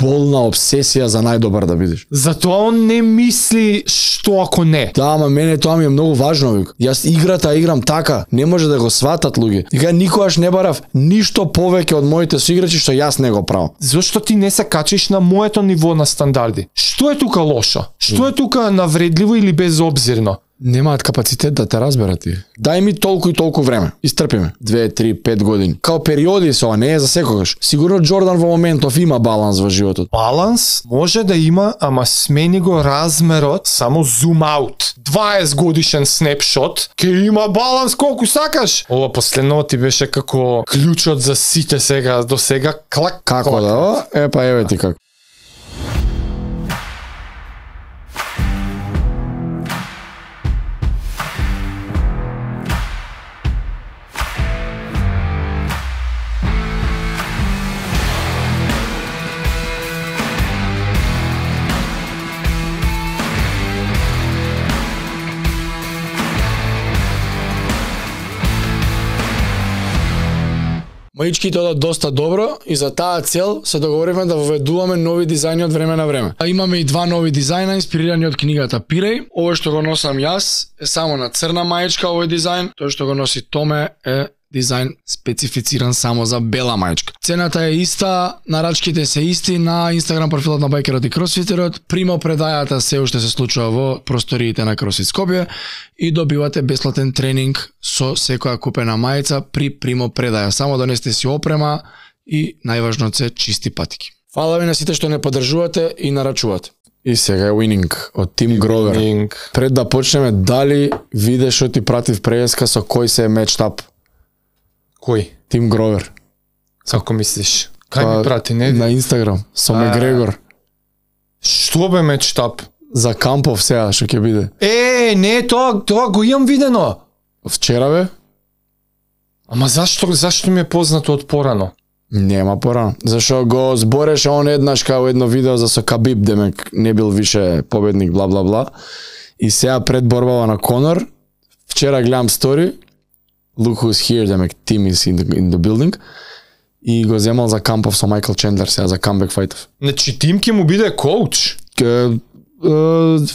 болна обсесија за најдобар да бидеш. Затоа он не мисли што ако не. Да, ама мене тоа ми е многу важно, вик. Јас играта играм така, не може да го сватат луѓе. Вика никогаш не барав ништо повеќе од моите соиграчи што јас не го правам. Зошто ти не се качиш на моето ниво на стандарди? Што е тука лошо? Што е тука навредливо или безобзирно? Немаат капацитет да те разберат ти. Дај ми толку и толку време. Истрпиме. 2, 3, 5 години. Као периоди се ова, не е за секогаш. Сигурно Џордан во моментов има баланс во животот. Баланс може да има, ама смени го размерот, само зум аут. 20 годишен снапшот, ке има баланс колку сакаш. Ова последново ти беше како клучот за сите сега, до сега клак. Како да? Епа еве ти како. Маичките одат доста добро и за таа цел се договоривме да воведуваме нови дизајни од време на време. А имаме и 2 нови дизајна инспирирани од книгата Пиреј. Овој што го носам јас е само на црна маичка овој дизајн, тој што го носи Томе е дизајн специфициран само за бела маичка. Цената е иста, нарачките се исти на Инстаграм профилот на Байкерот и Кросфитерот. Примо предајата се уште се случува во просториите на Кросфит Скопје и добивате бесплатен тренинг со секоја купена мајца при примо предаја. Само донесете си опрема и најважно се чисти патики. Фала ви на сите што не поддржувате и нарачувате. И сега е Winning од Тим Гровер. Пред да почнеме, дали видеш што ти пратив преска со кој се е мечтап? Кој? Тим Гровер. Како мислиш? Кај ми прати, не? На Инстаграм, со Мегрегор. Што бе мечтап? За кампов сега што ќе биде. Не, тоа го имам видено. Вчера бе? Ама зашто ми е познато од порано? Нема порано. Зашо го збореше он еднаш као едно видео за со Кабиб, демек не бил више победник, бла бла бла. И сега пред борбава на Конор, вчера гледам стори, look who's here, демек team is in the building, и го земал за кампов со Майкл Чендлер сега за камбек фајтов. Значи Тим ќе му биде коуч?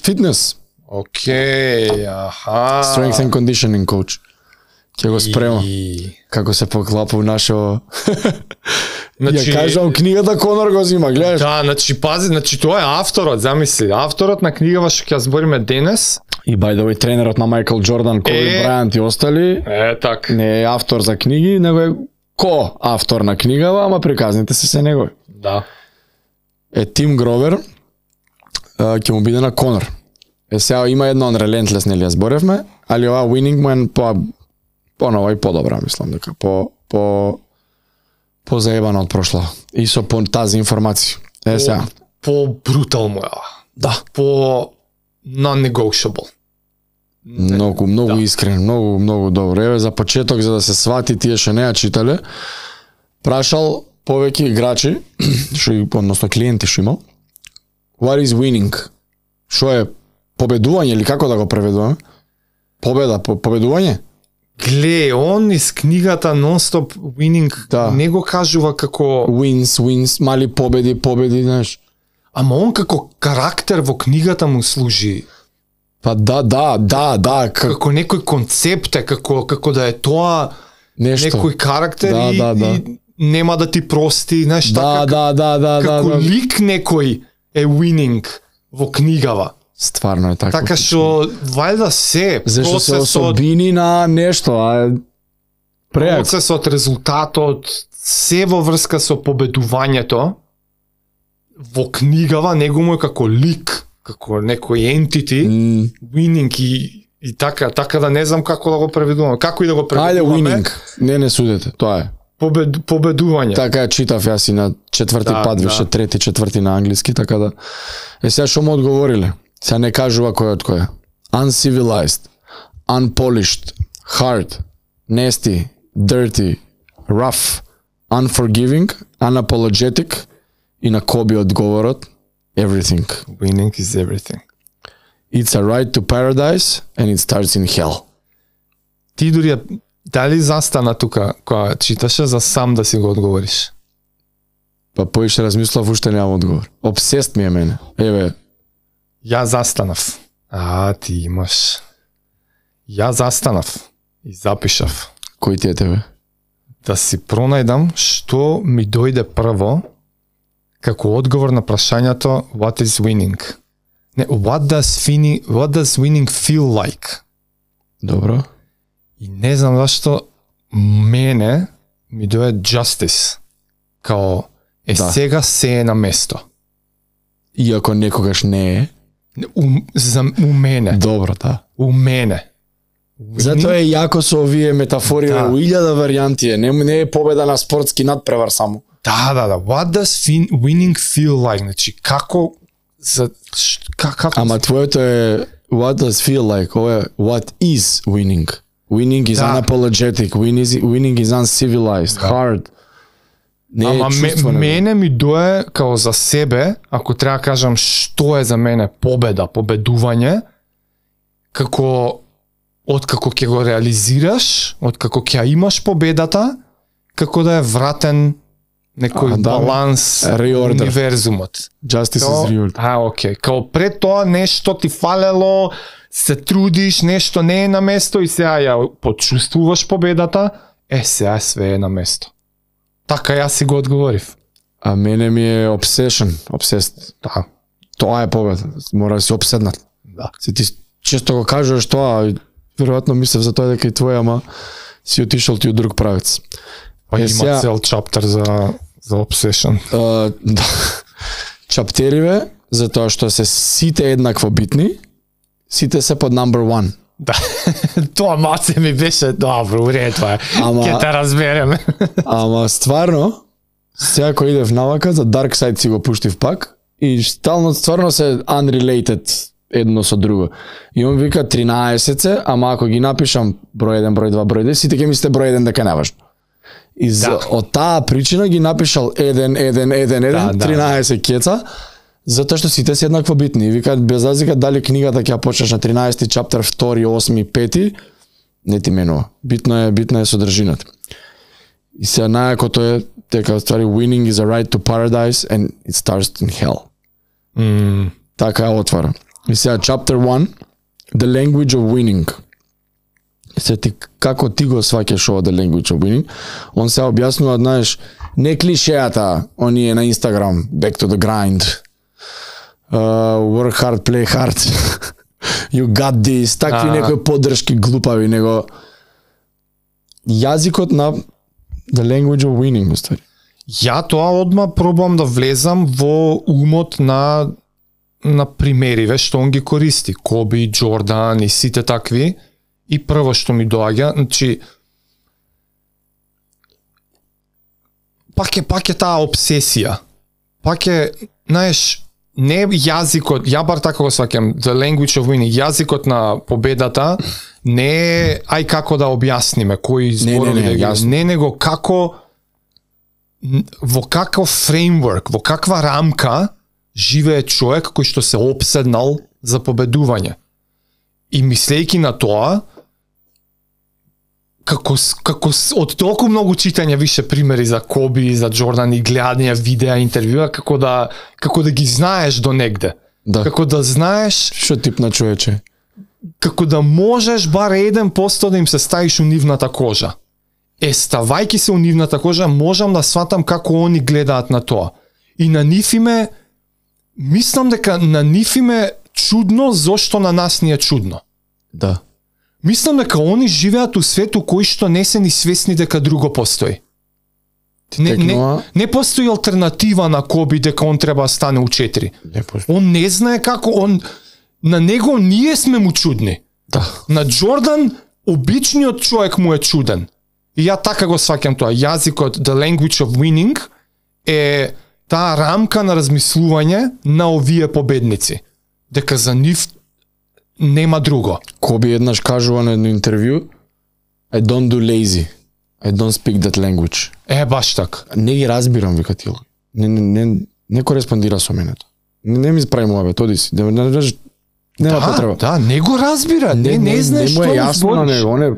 Фитнес. Океј, аха. Strength and conditioning coach. Ќе го спрема. Како се поклапа у нашо... Ја кажам, книгата Конор го зима, гледаш? Да, значи пази, значи тоа е авторот, замисли. Авторот на книгава што ќе збориме денес. И by the way, тренерот на Майкл Џордан, Коби Брајант и остали. Так. Не е автор за книги, него е ко-автор на книгава, ама приказните се негови. Да. Тим Гровер ќе му биде на Конор. Сега има едно on Relentless, нели ја зборевме, али ова Winning му е по-нова и по-добра, мислам дека по-заебана од прошла. И со тази информација. Сега. По-брутал му е. Да. Non-negotiable. Многу искрен, многу добро. Еве за почеток, за да се свати тие што не ја читале, прашал повеќе играчи, односно клиенти што имал. What is winning? Што е победување или како да го преведуваме? Победување? Гле, он из книгата Non-Stop Winning не го кажува како wins, мали победи, знаеш. Ама он како карактер во книгата му служи. Па да. Како некој концепт е, како да е тоа нешто. Некој карактер и нема да ти прости, знаеш, да. Како лик некој е winning во книгава. Стварно е така. Така што вајда се зашто се особини на нешто, преак. Процесот, резултатот, се во врска со победувањето во книгава него му е како лик, како некој entity, winning и така да не знам како да го преведувам. Како и да го преведуваме. Ајде winning, не судете, тоа е. Победување. Така читав јас и на четврти пат, више трети, четврти на англиски, така да. Сега што му одговориле? Сега не кажува кој од кој. Uncivilized, unpolished, hard, nasty, dirty, rough, unforgiving, unapologetic и на Коби одговорот everything. Winning is everything. It's a ride to paradise and it starts in hell. Ти дури дали застана тука кога читаше за сам да си го одговориш? Па поише размислав, уште немам одговор. Обсест ми е мене. Еве. Ја застанав. Ти имаш. Ја застанав и запишав. Кој ти е тебе? Да си пронајдам што ми дојде прво како одговор на прашањето what is winning. Не, what does winning feel like? Добро. И не знам зашто мене ми дојде justice. Као сега се е на место. Иако некогаш не е. У мене. Добро, да. У мене. Затоа е јако со овие метафори, у 1000 варијанти е, не е победа на спортски надпревар само. Да. What does winning feel like? Значи, како Ама твоето е what does feel like, ова е what is winning. Winning is unapologetic, winning is uncivilized, hard. Ама мене ми дое као за себе, ако треба да кажам што е за мене победа, победување, како откако ќе го реализираш, откако ќе имаш победата, како да е вратен некој баланс reorder. Универзумот. Justice is reorder. Окей. Као пред тоа нешто ти фалело, се трудиш, нешто не е на место и сега ја почувствуваш победата, сега све е на место. Така јас си го одговорив. А мене ми е obsessed. Да. Тоа е победа. Мора да си обседнат. Да. Си ти често го кажуваш тоа, веројатно мислев за тоа дека и твоја, ама си отишол ти од друг правец. Па има цел чаптер за obsession. Да. Чаптериве, затоа што се сите еднакво битни, сите се под number 1. Да. Тоа маце ми беше добро, уред тоа. Ќе те разбереме. Ама стварно, сега кој иде в навака, за Dark Side си го пуштив пак и стално стварно се unrelated едно со друго. И он вика 13 се, ама ако ги напишам број 1, број 2, број 10, сите ќе мислите број 1 дека не важно. И од таа причина ги напишал 1, 13 кеца, затоа што сите се еднакво битни. И викаат без разлика дали книгата ќе ја почнеш на 13 чаптер, 2, 8, 5, не ти менува. Битна е содржината. И сега најакото е дека ствари winning is a right to paradise and it starts in hell. Така е отвара. И сега chapter 1, the language of winning. Се ти како ти го сваќаш ова the language of winning? Он се објаснува, знаеш, не клишеата, оние на Instagram, back to the grind. Work hard, play hard. You got this. Такви некои поддршки глупави, него јазикот на the language of winning, устари. Ја тоа одма пробам да влезам во умот на примериве што он ги користи. Коби, Джордан и сите такви. И прво што ми доаѓа, значи пак е таа обсесија. Пак е, знаеш, не јазикот, ја бар така го сваќам, the language of winning, јазикот на победата не е ај како да објасниме кои зборови не, него како во каков фреймворк, во каква рамка живее човек кој што се опседнал за победување. И мислејќи на тоа, како од толку многу читање више примери за Коби, за Джордан и гледање видеа, интервјуа, како да ги знаеш до негде. Да. Како да знаеш што тип на човече. Како да можеш бар 1% да им се ставиш у нивната кожа. Ставајки се у нивната кожа, можам да сватам како они гледаат на тоа. И на нив име, мислам дека на нив име чудно зошто на нас ни е чудно. Да. Мислам дека они живеат у свету кој што не се ни свесни дека друго постои. Не постои алтернатива на Коби дека он треба да стане у 4. Он не знае како, на него ние сме му чудни. Да. На Джордан обичниот човек му е чуден. И ја така го сваќам тоа. Јазикот, the language of winning, е таа рамка на размислување на овие победници. Дека за нив нема друго. Коби еднаш кажува на едно интервју, I don't do lazy. I don't speak that language. Баш така. Не ги разбирам, вика ти. Не кореспондира со мене. Не ми прави му оди си. Нема потреба. Да, не го разбира. Не знае што му е јасно на него.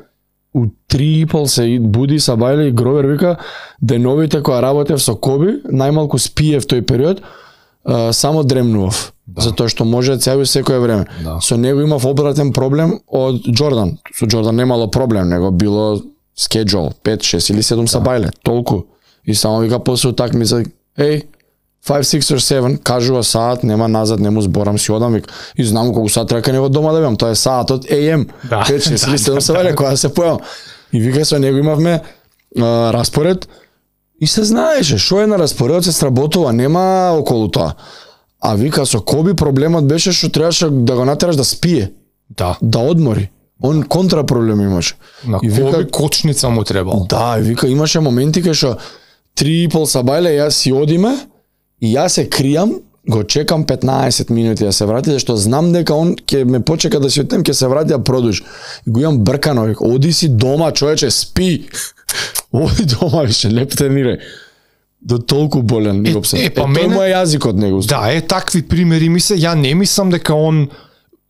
у 3:30 се буди Сабајле и Гровер вика деновите кои работев со Коби, најмалку спиев тој период, само дремнував. Да. Затоа што може цели секое време. Да. Со него имав обратен проблем од Џордан. Со Џордан немало проблем, него било schedule 5, 6 или 7 Сабајле, толку. И само вика после утакмица, 5, 6 or 7, кажува саат, нема назад, не му зборам, си одам, вик. И знам колку саат треба него дома да бевам, тоа е саатот AM, 5, 6 или 7 Сабајле, кога се појавам. И вика со него имавме распоред, и се знаеше, шо е на распоредот се сработува, нема околу тоа. А вика со Коби проблемот беше што требаше да го натераш да спие, да одмори. Он контра проблем имаше. На и вика, Коби кочница му требало. Да, и вика имаше моменти кај што 3:30 Сабајле, јас си одиме, и јас се кријам, го чекам 15 минути да се врати, зашто знам дека он ќе ме почека да си отидем, ќе се врати да продолжи. И го имам бркано, вика, оди си дома, човече, спи. Оди дома, више, леп тренирај. До толку болен го псе. Тој му е јазикот него. Да, такви примери ја не мислам дека он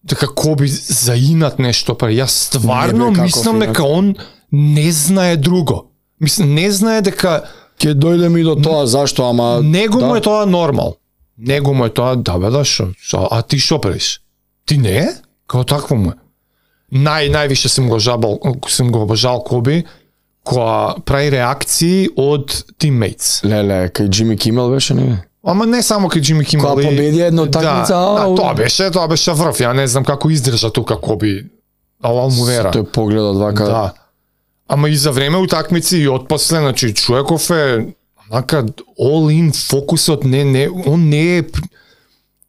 дека Коби заинат нешто, па јас стварно мислам дека он не знае друго. Мислам, не знае дека ќе дојде ми до тоа, зашто, ама... Него му е тоа нормал. Него му е тоа, да бе, да, шо? А ти шо правиш? Ти не? Као такво му е. Највише сум го обожал Коби, која прави реакции од тиммейтс. Леле, кај Джими Кимел беше, не? Ама не само кај Джими Кимел. Која победи една такмица. Тоа беше врв. Ја не знам како издржа тука Коби. Ала му вера. Тој погледот вака. Да. Ама и за време утакмици и отпосле, значи човеков е онака all in фокусот, он не е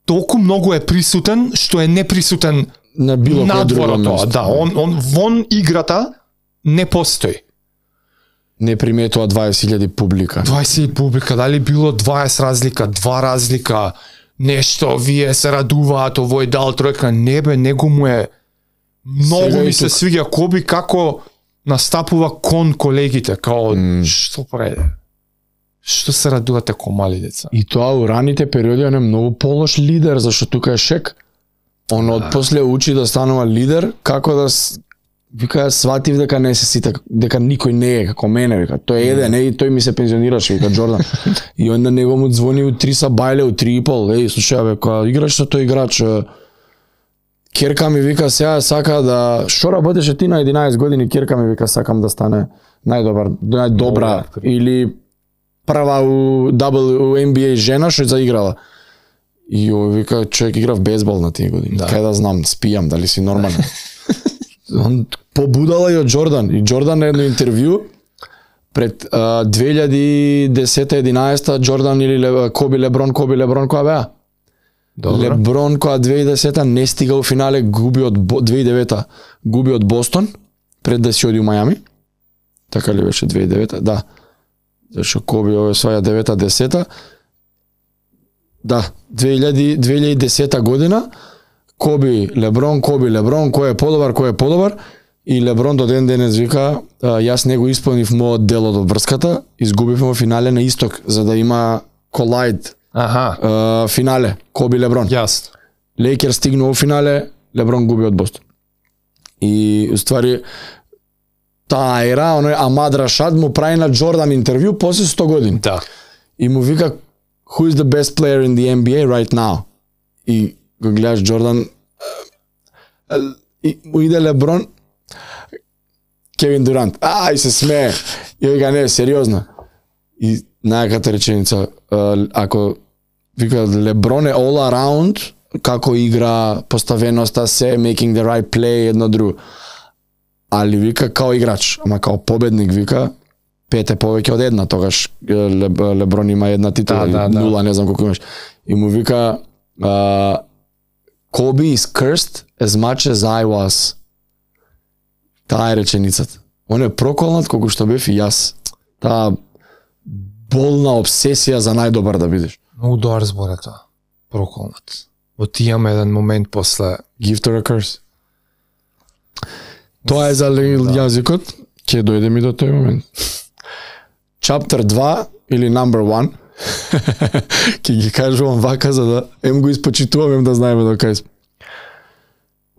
толку многу е присутен што е неприсутен на било кој друго место. Да, он вон играта не постои. Не приметува 20.000 публика. 20.000 публика, дали било 20 разлика, 2 разлика, нешто, вие се радуваат, овој дал тројка, не бе, него му е многу ми се свиѓа Коби како настапува кон колегите, као што прави? Што се радувате ко мали деца? И тоа у раните периоди он е многу полош лидер, зашто тука е Шек. Он отпосле учи да станува лидер, како да вика сватив дека не се сите, дека никој не е како мене, вика. Тој е еден, тој ми се пензионираше, вика Џордан. И онда него му звони у 3 Сабајле, у 3:30, слушај бе, кога играш со тој играч, Керка ми вика сега сака да шо работеше ти на 11 години, Керка ми вика сакам да стане најдобра или прва у NBA жена што заиграла. И вика човек игра в бейсбол на тие години. Да. Кај да знам, спијам, дали си нормален. Он побудала и од Џордан. И Џордан на едно интервју пред 2010-11 Џордан или Коби Леброн која беа? Добре. Леброн која 2010 не стига у финале, губи од 2009 губи од Бостон пред да си оди у Мајами. Така ли беше 2009? Да. Зашто Коби осваја 9-10. Да, 2010 година Коби Леброн, кој е подобар, и Леброн до ден денес вика, јас не го исполнив мојот дел од врската, изгубивме во финале на исток, за да има колајд финале, Коби Леброн. Јас. Лейкер стигнува во финале, Леброн губи од Бостон. И уствари таа ера, оној Амад Рашад му прави на Џордан интервју после 100 години. Да. И му вика, who is the best player in the NBA right now? И го гледаш Џордан, и му иде Леброн, Кевин Дурант, и се смее. И вика, не, сериозно. И најаката реченица, ако вика Леброн е all around, како игра, поставеноста се, making the right play, едно друго. Али вика као играч, ама као победник вика, 5 е повеќе од една, тогаш Леброн има една титула, нула, не знам колку имаш. И му вика, Kobe is cursed as much as I was. Таа е реченицата. Он е проколнат колку што бев и јас. Таа болна обсесија за најдобар да бидеш. Многу добар збор е тоа. Проколнат. Отијам еден момент после Gift or a curse. Тоа е за јазикот. Ќе дојде ми до тој момент. Chapter 2 или number 1. Ќе ги кажувам вака за да го испочитувам, да знаеме до кај сме.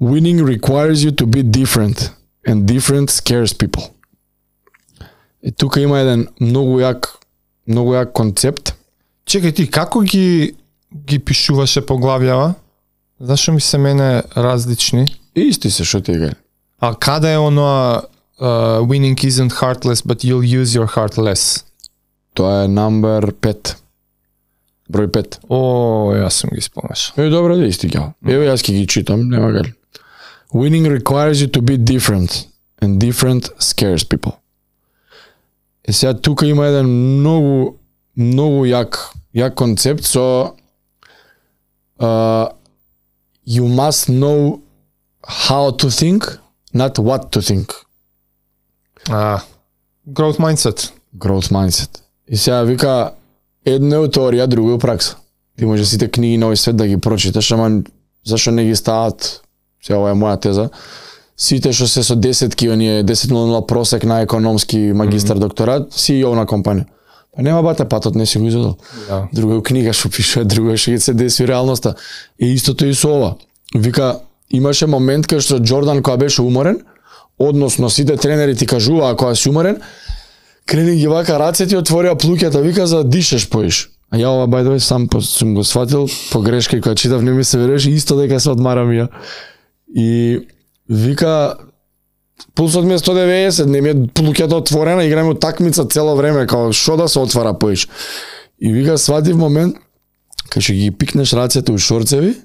Winning requires you to be different. and different scares people. И тука има еден многу јак концепт. Чекај ти, како ги пишуваше поглавјава? Зашо ми се мене различни? Исти се, шо ти е. А каде е оноа winning isn't heartless, but you'll use your heart less? Тоа е number 5. Број 5. О, јас сум ги спомнеш. Добро да исти ги. Еве јас ќе ги читам, нема гали. Winning requires you to be different, and different scares people. И сега тука има еден многу јак концепт со you must know how to think, not what to think. Growth mindset. Growth mindset. И сега вика, едно е теорија, друго е пракса. Ти може сите книги на овој свет да ги прочиташ, ама зашо не ги стават, сега ова е моја теза, сите што се со 10-ки, оние 10.00 просек на економски магистар докторат, CEO на компанија. Па нема бате, патот не си го изодел. Да. Друго е книга што пишува, друго е што се деси реалноста. И истото и со ова. Вика, имаше момент кај што Џордан кога беше уморен, односно сите тренери ти кажуваа кога си уморен, крени ги вака рацете и отворија плуќата, вика за дишеш поиш. А ја ова by the way сам сум го сватил по грешка и кога читав не ми се веруваше исто дека се одмарам ја. И вика пулсот ми е 190, не ми е плуќата отворена, играме утакмица цело време, као шо да се отвара поиш. И вика сватив момент кај што ги пикнеш рацете у шорцеви,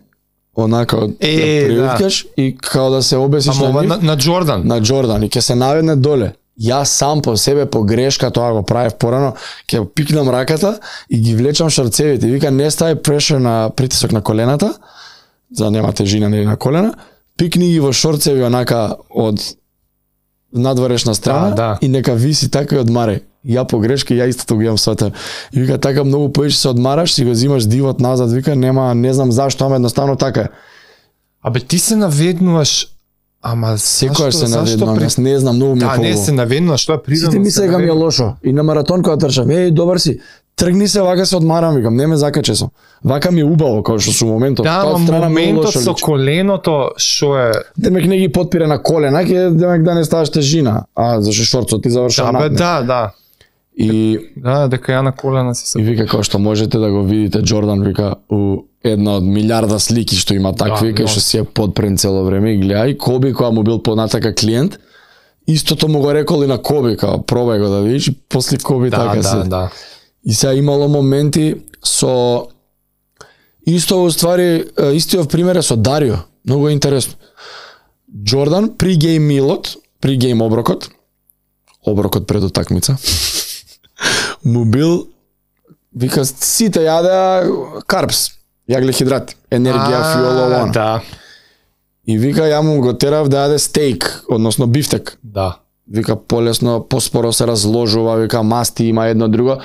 онака ја приуткаш и као да се обесиш на нив. На Џордан. На Џордан и ќе се наведне доле. Јас сам по себе по грешка тоа го правев порано, ќе пикнам раката и ги влечам шорцевите. Вика не стави прешер на притисок на колената, за нема тежина на колена. Пикни ги во шорцеви онака од надворешна страна да. И нека виси така и одмаре. Ја по грешка ја истото го имам сватен. И вика така многу поише се одмараш, си го зимаш дивот назад, вика нема, не знам зашто, ама едноставно така е. Абе ти се наведнуваш, ама секојаш се наведнувам, јас не знам, многу ми е побаво. Да, не се наведнуваш, тоа е природно. Сите мислеја дека ми е лошо. И на маратон кога трчам, добар си. Тргни се, вака се одмарам, викам, не ме закаче сум. Вака ми е убаво, као што со моментот. Да, моментот со коленото, што е... Демек не ги потпира на колена, ќе демек да не ставаш тежина. А, зашто шорцот ти завршува надне. Да. И дека ја на колена си се. И вика као што можете да го видите Џордан вика у една од милиарда слики што има такви, кај што си е подпрен цело време и гледај Коби кога му бил понатака клиент, истото му го рекол и на Коби, као пробај го да видиш, и после Коби така се. Да. И сега имало моменти со исто уствари истиот пример е со Дарио, многу интересно. Џордан при гейм милот, при гейм оброкот пред утакмица. Му бил вика сите јадеа карпс, јаглехидрати, енергија, фиоло, да. И вика ја му го терав да јаде стейк, односно бифтек. Да. Вика полесно, поспоро се разложува, вика масти има едно друго.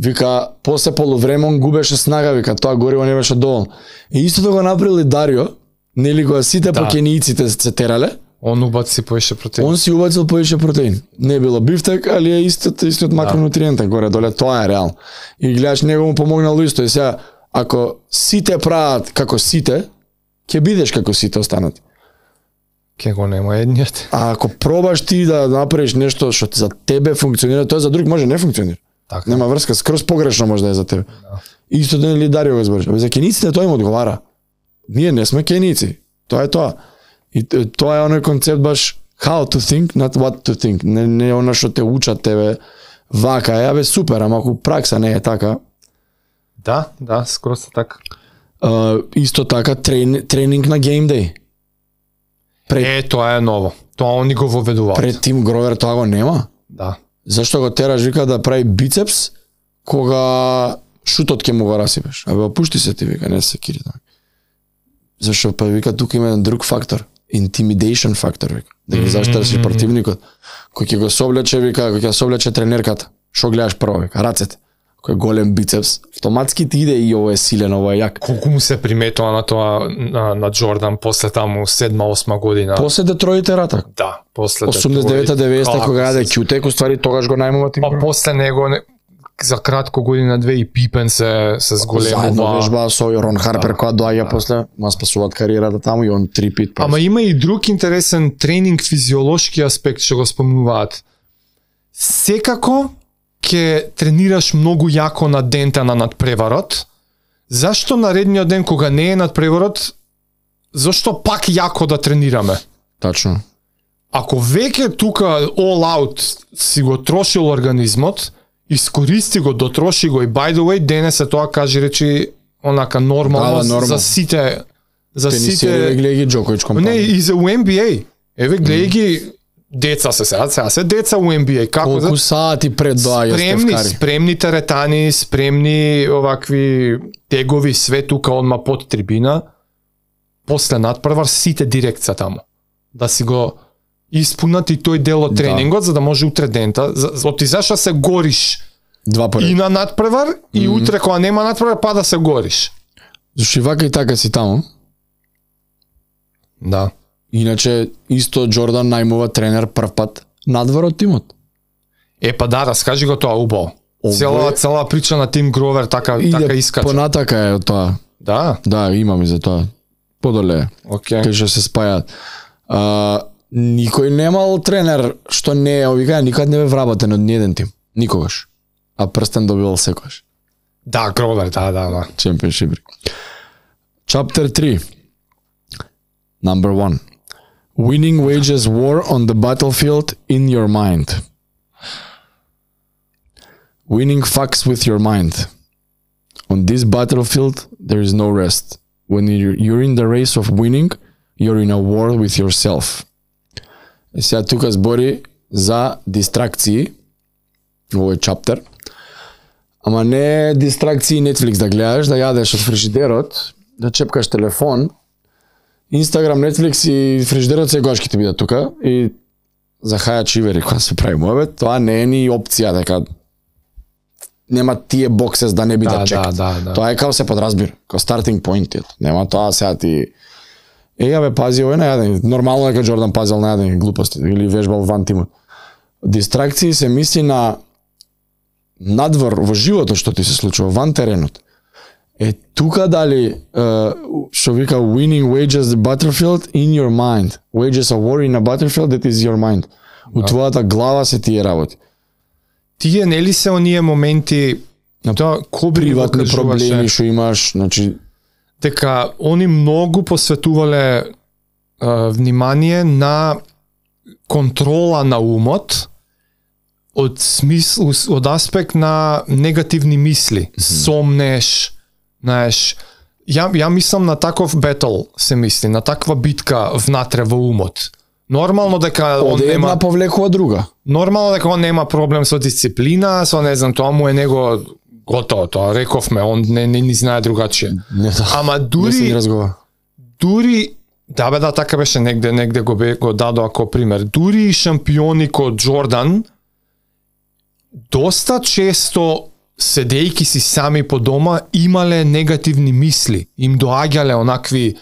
Вика после полувреме он губеше снага, вика тоа гориво не беше доволно. И истото го направил и Дарио, нели кога сите покенијците се терале. Он убаци поише протеин. Он си убацил поише протеин. Не било бифтек, али е истиот макронутриентен горе доле, тоа е реално. И гледаш него му помогнало исто. И сега ако сите прават како сите, ќе бидеш како сите останати. Ке го нема едниот. А ако пробаш ти да направиш нешто што за тебе функционира, тоа за друг може не функционира. Така. Нема врска, скроз погрешно може да е за тебе. Да. Исто ден Дарио го збориш. За кениците тоа им одговара. Ние не сме кеници. Тоа е тоа. И тоа е оној концепт баш how to think, not what to think. Не она што те учат тебе вака е, абе супер, ама ако пракса не е така. Да, скроз така. Исто така тренинг на game day. Тоа е ново. Тоа они го воведуваат. Пред Тим Гровер тоа го нема. Да. Зашто го тераш вика да прави бицепс кога шутот ќе му го расипеш. Абе опушти се ти вика, не се кири така. Зашто па вика тука има еден друг фактор, intimidation фактор вика. Да ги заштараш противникот. Кој ќе го соблече вика, кој ќе соблече тренерката. Што гледаш прво вика, рацете. Кој е голем бицепс, автоматски ти иде и ова е силен, ова е јак. Колку му се приметува на тоа на Џордан после таму 7-8 година. После Детроите ратак. Да, после 89-90 кога јаде Кјутек, уствари тогаш го најмува Тим. Па после него за кратко година две и Пипен се зголемува. Заедно вежба со Рон Харпер која доаѓа после, ма спасуваат кариерата таму и он 3 пит. Ама има и друг интересен тренинг физиолошки аспект што го спомнуваат. Секако ќе тренираш многу јако на дента на надпреварот. Зашто наредниот ден кога не е надпреварот, зашто пак јако да тренираме? Тачно. Ако веќе тука all out си го трошил организмот, искористи го, дотроши го и by the way денес е тоа кажи речи онака нормално за сите Тенисери гледај ги Џоковиќ компанија. Не, и за NBA. Еве гледај ги деца сега се деца у NBA. Како колку сати пред доаѓа Стеф Кари. Спремни теретани, спремни овакви тегови, све тука одма под трибина. После надпревар сите директ са таму. Да си го испунат и тој дел од тренингот, за да може утре дента, оти зашто се гориш два поред. И на надпревар, и утре кога нема надпревар, па да се гориш. Зашто и вака и така си таму. Да. Иначе, исто Џордан најмува тренер прв пат надвор од тимот. Па да, раскажи го тоа убаво. Цела прича на Тим Гровер така искача. Понатака е тоа. Да? Да, имам и за тоа. Подоле. Океј. Кај што се спајат. Никој немал тренер што не е овика, никад не бе вработен од ниеден тим. Никогаш. А прстен добивал секогаш. Да, Гровер, да. Championship. Chapter 3. Number 1. Winning wages war on the battlefield in your mind. Winning fucks with your mind. On this battlefield, there is no rest. When you're in the race of winning, you're in a war with yourself. И сега тука збори за дистракции, овој чаптер. Ама не дистракции Netflix да гледаш, да јадеш од фрижидерот, да чепкаш телефон, Instagram, Netflix и фрижидерот секогаш ќе ти бидат тука и за хаја чивери кога се прави мојбет, тоа не е ни опција дека нема тие боксес да не бидат чекат. Да. Тоа е као се подразбира, као starting point. Нема тоа сега ти бе, пази овој најаден. Нормално дека Џордан пазил најаден глупости или вежбал ван тимот. Дистракции се мисли на надвор во животот што ти се случува, ван теренот. Тука дали што вика winning wages the battlefield in your mind. Wages a war in a battlefield that is your mind. У твојата глава се тие работи. Тие нели се оние моменти на тоа приватни проблеми што имаш, значи дека они многу посветувале внимание на контрола на умот од смисл, од аспект на негативни мисли. Сомнеш, знаеш, ја мислам на таков бетл, се мисли, на таква битка внатре во умот. Нормално дека он нема една повлекува друга. Нормално дека он нема проблем со дисциплина, со не знам, тоа му е него готово, тоа рековме, он не знае другачие. Ама дури да бе, да, така беше негде го дадо ако пример. Дури и шампиони ко Џордан доста често седејки си сами по дома имале негативни мисли, им доаѓале онакви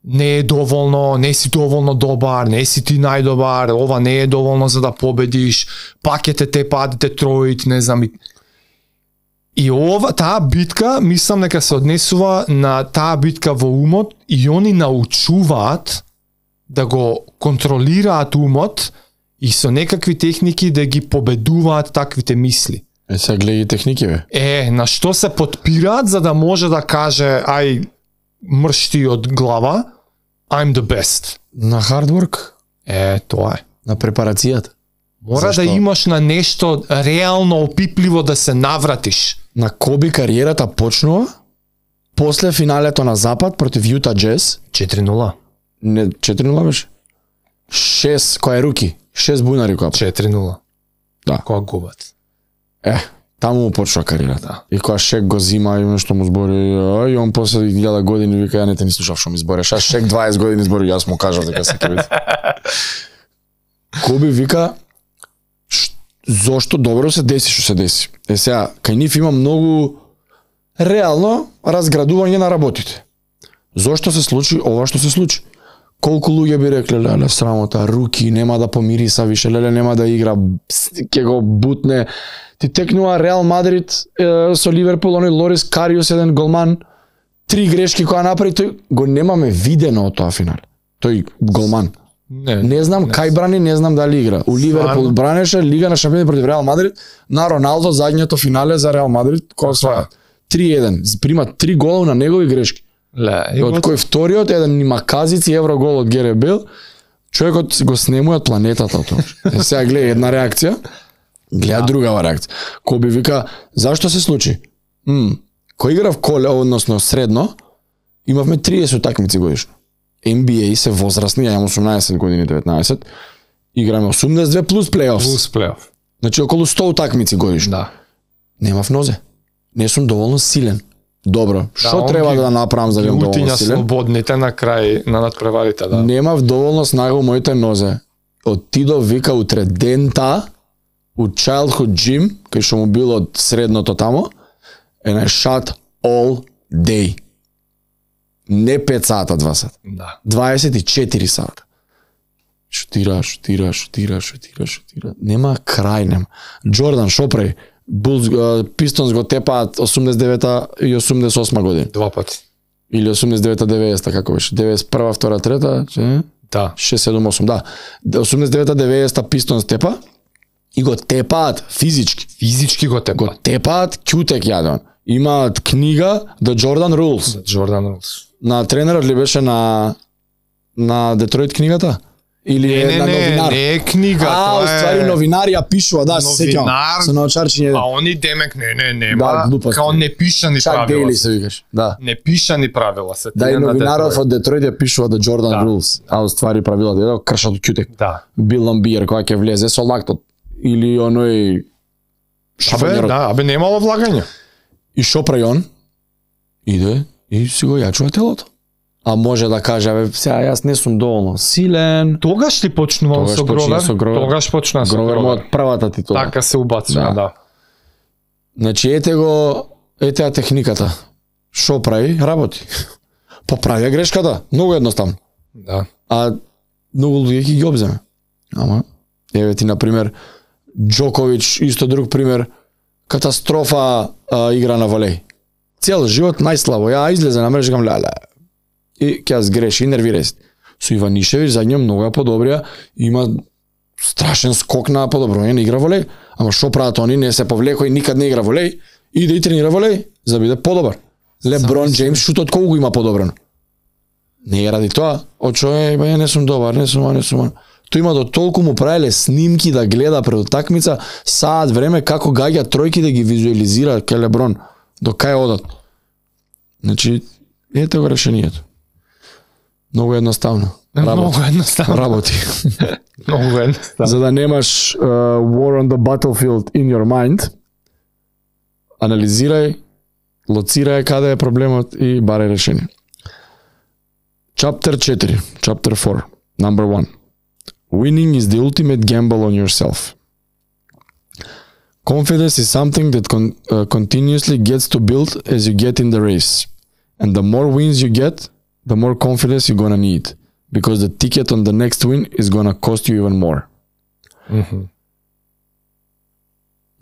не е доволно, не си доволно добар, не си ти најдобар, ова не е доволно за да победиш, пак ќе те тепаат Детройт, не знам. И таа битка, мислам дека се однесува на таа битка во умот и они научуваат да го контролираат умот и со некакви техники да ги победуваат таквите мисли. Сега гледај техники, бе. На што се подпираат за да може да каже ај мршти од глава, I'm the best. На hard work. Тоа е. На препарацијата. Мора да имаш на нешто реално опипливо да се навратиш. На Коби кариерата почнува после финалето на Запад против Јута Джез. 4-0. Не, 4-0 беше. 6, кој е руки. 6 бунари која. 4-0. Да. Која губат. Таму му почна кариерата. Да. И кога Шек го зима и што му збори, и он после 1000 години вика, ја не те ни слушав што ми збориш. А Шек 20 години збори, јас му кажав дека се ќе биде. Коби вика, зошто добро се деси што се деси. Сега, кај нив има многу реално разградување на работите. Зошто се случи ова што се случи? Колку луѓе би рекле, леле, срамота, руки, нема да помириса више, леле, нема да игра, ќе го бутне. Ти текнува Реал Мадрид со Ливерпул, оној Лорис Кариус, еден голман, 3 грешки која направи, тој го немаме видено од тоа финал. Тој голман. Не знам кај брани, не знам дали игра. У Ливерпул бранеше Лига на шампиони против Реал Мадрид, на Роналдо задњето финале за Реал Мадрид, кој осваја 3-1, прима 3 гола на негови грешки. Од кој вториот еден има казици еврогол од Герет Бейл, човекот го снемува од планетата тоа. Сега гледа една реакција, гледа другава реакција. Коби вика, зашто се случи? Кој игра в коле, односно средно, имавме 30 такмици годишно. NBA се возрастни, ја имам 18 години, 19, играме 82 плюс плей-оф. Значи околу 100 такмици годишно. Да. Немав нозе. Не сум доволно силен. Добро, што треба да направам за да бидам доволно силен? Слободните на крај на надпреварите, да. Немав доволно снага у моите нозе. Отидов вика утре дента у childhood gym, кај што му било од средното тамо, and I shot all day. Не 5 сата, 2 сата. Да. 24 сата. Шутира. Нема крај, нема. Джордан, шо прави? Пистонс го тепаат 89-та и 88 година. 2 пати. Или 89-та, 90-та, како беше? 91-та, 2-та, 3-та, да. 6-7-8, да. 89-та, 90-та Пистонс тепа и го тепаат физички. Физички го тепаат. Го тепаат, кјутек јаден. Имаат книга The Jordan Rules. На тренерот ли беше на Детройт книгата? Или на новинар? Не е книга, тоа е... ствари новинар ја пишува, да, се сеќавам. Со научарчиње. А они демек не, да, као непишани правила. Чак Дейли се викаш, да. Непишани правила се. Да, и новинарот од Детройт ја пишува The Jordan Rules. А ствари правилата, едо кршат од кјутек. Да. Бил Ламбиер која ќе влезе со лактот или оној абе немало влагање. И шо прави он? Иде и си го јачува телото. А може да каже, сега јас не сум доволно силен. Тогаш ли почнувам со Гровер? Тогаш почна со Гровер. Гровер од првата титула. Така се убацува, да. Значи ете техниката. Шо прави? Работи. Поправија грешката, многу едноставно. Да. А многу луѓе ќе ги обземе. Ама еве ти на пример Џоковиќ, исто друг пример, катастрофа игра на волеј. Цел живот најслабо. Ја излезе на мрежа кам леле. И ќе сгреши, нервира се. Со Иванишевиќ задње многу подобрија, има страшен скок на подобрување на игра волеј, ама што прават они, не се повлекој, никад не игра волеј, иде и тренира волеј за да биде подобар. Леброн Џејмс шутот колку има подобрено. Не е ради тоа, очо ја не сум добар, не сум. Тој има до толку му правеле снимки да гледа пред утакмица, саат време како гаѓа тројки да ги визуализира кај Леброн, до кај одат. Значи, ете го решението. Многу едноставно. Работи. Многу едноставно. За да немаш war on the battlefield in your mind, анализирај, лоцирај каде е проблемот и барај решение. Chapter 4, number 1. Winning is the ultimate gamble on yourself. Confidence is something that continuously gets to build as you get in the race. And the more wins you get, the more confidence you're gonna need. Because the ticket on the next win is gonna cost you even more.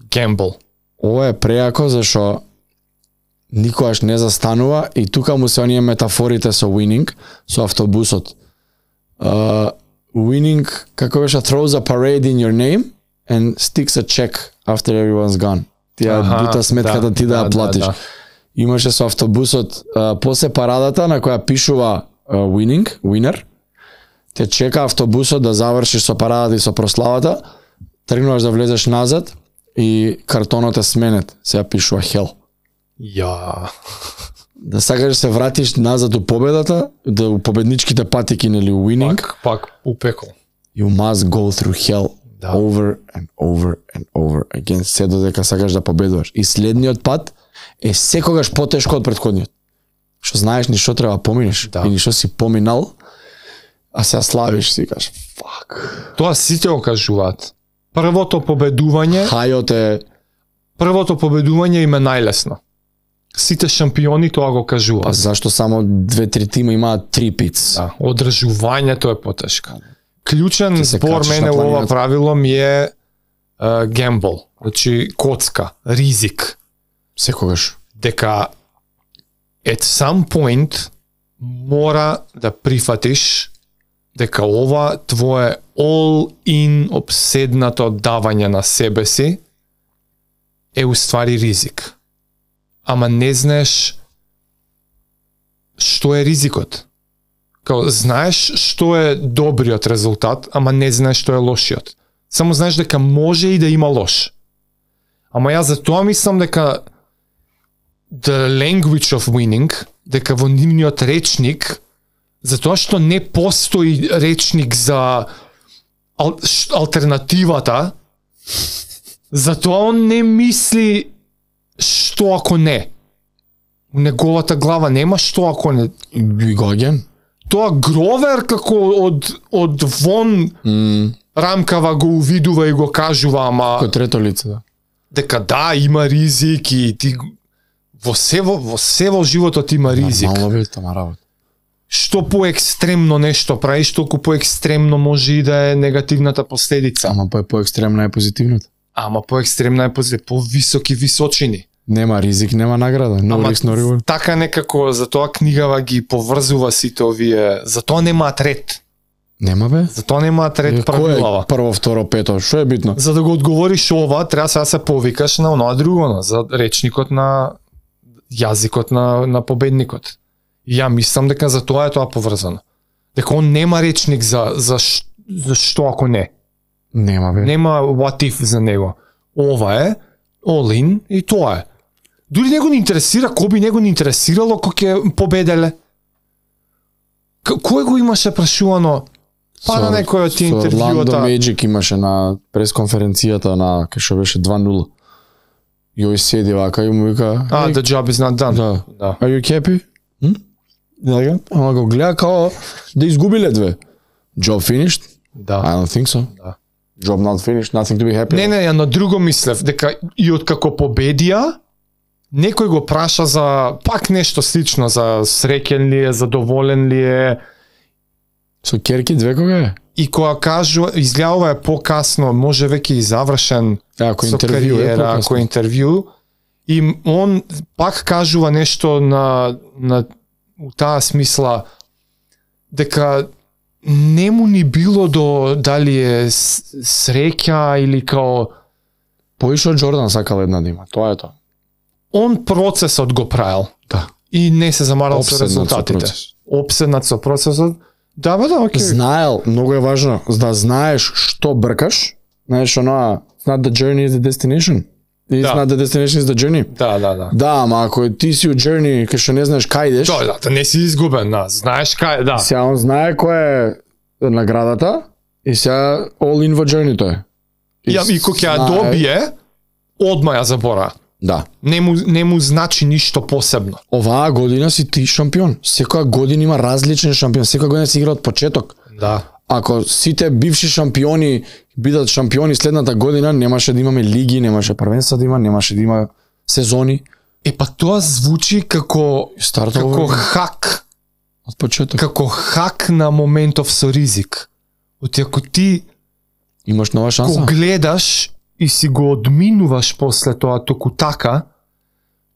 Gamble. Ова е преако зашо никогаш не застанува и тука му се оние метафорите со winning, со автобусот. Winning, како беше, throws a parade in your name and sticks a check after everyone's gone. Тија бута сметката ти да ја платиш. Имаше со автобусот после парадата на која пишува winner, те чека автобусот да завршиш со парадата и со прославата, тргнуваш да влезеш назад и картонот е сменет, сега пишува hell. Да сакаш да се вратиш назад у победата, да у победничките патики, нели, winning. Пак упекол. You must go through hell over and over again, се додека сакаш да победуваш. И следниот пат е секогаш потешко од претходниот. Што знаеш ни што треба поминеш, и ни што си поминал, а сега славиш, си кажеш, fuck. Тоа сите го кажуваат. Првото победување им е најлесно. Сите шампиони тоа го кажуваат. Па зашто само 2-3 тима имаат 3 пиц? Да, одржувањето е потешко. Клучен збор мене во ова правило ми е gamble, значи коцка, ризик. Секогаш. Дека at some point мора да прифатиш дека ова твое all-in обседнато давање на себе си е уствари ризик. Ама не знаеш што е ризикот. Као, знаеш што е добриот резултат, ама не знаеш што е лошиот. Само знаеш дека може и да има лош. Ама јас за тоа мислам дека the language of winning, дека во нивниот речник, затоа што не постои речник за алтернативата, затоа он не мисли што ако не. У неговата глава нема што ако не. Гоген. Тоа Гровер како од вон рамкава го увидува и го кажува, ама Кој трето лице, да. дека да, има ризик и ти во се во животот има ризик. Нормално бе, тама работа. Што поекстремно нешто правиш, толку поекстремно може и да е негативната последица. Ама по-екстремна е позитивната. Ама поекстремна е по-високи височини. Нема ризик, нема награда. No risk, no reward. Така некако, затоа книгава ги поврзува сите овие, затоа немаат ред. Нема бе? Затоа немаат ред правилава. Кој е прво, второ, пето? Што е битно? За да го одговориш ова, треба сега се повикаш на оноа друго, за речникот на јазикот на победникот. И ја мислам дека за тоа е тоа поврзано. Дека он нема речник за што ако не. Нема бе. Нема what if за него. Ова е all in и тоа е. Дури него не интересира, кој би него не интересирало кој ќе победеле. Кој го имаше прашувано? Па на некој од тие интервјуата. Орландо Magic имаше на пресконференцијата на кај што беше 2-0. Јој седи вака и му вика, The job is not done. Да. Are you happy? Ама го гледа као да изгубиле две. Job finished? Да. I don't think so. Да. Job not finished, nothing to be happy. Не, ја на друго мислев, дека и откако победија, некој го праша за пак нешто слично, за среќен ли е, задоволен ли е. Со керки две кога е? И кога кажува, изгледува е покасно, може веќе и завршен Ако со интервју кариера, ако интервју, и он пак кажува нешто на у таа смисла дека нему ни било до дали е среќа или као Поише од Джордан сакал една да има, тоа е тоа. он процесот го правил. Да. И не се замарал со Опседнат со резултатите. процес. Опседнат со процесот. Да, окей. Знаел, многу е важно, да знаеш што бркаш, знаеш оноа, it's not the journey is the destination. It's Да. not the destination is the journey. Да. Да, ама ако ти си у journey кај што не знаеш кај идеш, Да не си изгубен, да. Знаеш кај, да. сега он знае која е наградата и сега all in во journey-то е. И кој ќе ја добие, одма ја забора. Да. Не му значи ништо посебно. Оваа година си ти шампион. Секоја година има различен шампион. Секоја година се игра од почеток. Да. Ако сите бивши шампиони бидат шампиони следната година, немаше да имаме лиги, немаше првенства да има, немаше да има сезони. Па тоа звучи како хак. Од почеток. Како хак на моментов со ризик. Оти ако ти имаш нова шанса. Го гледаш и си го одминуваш после тоа току така,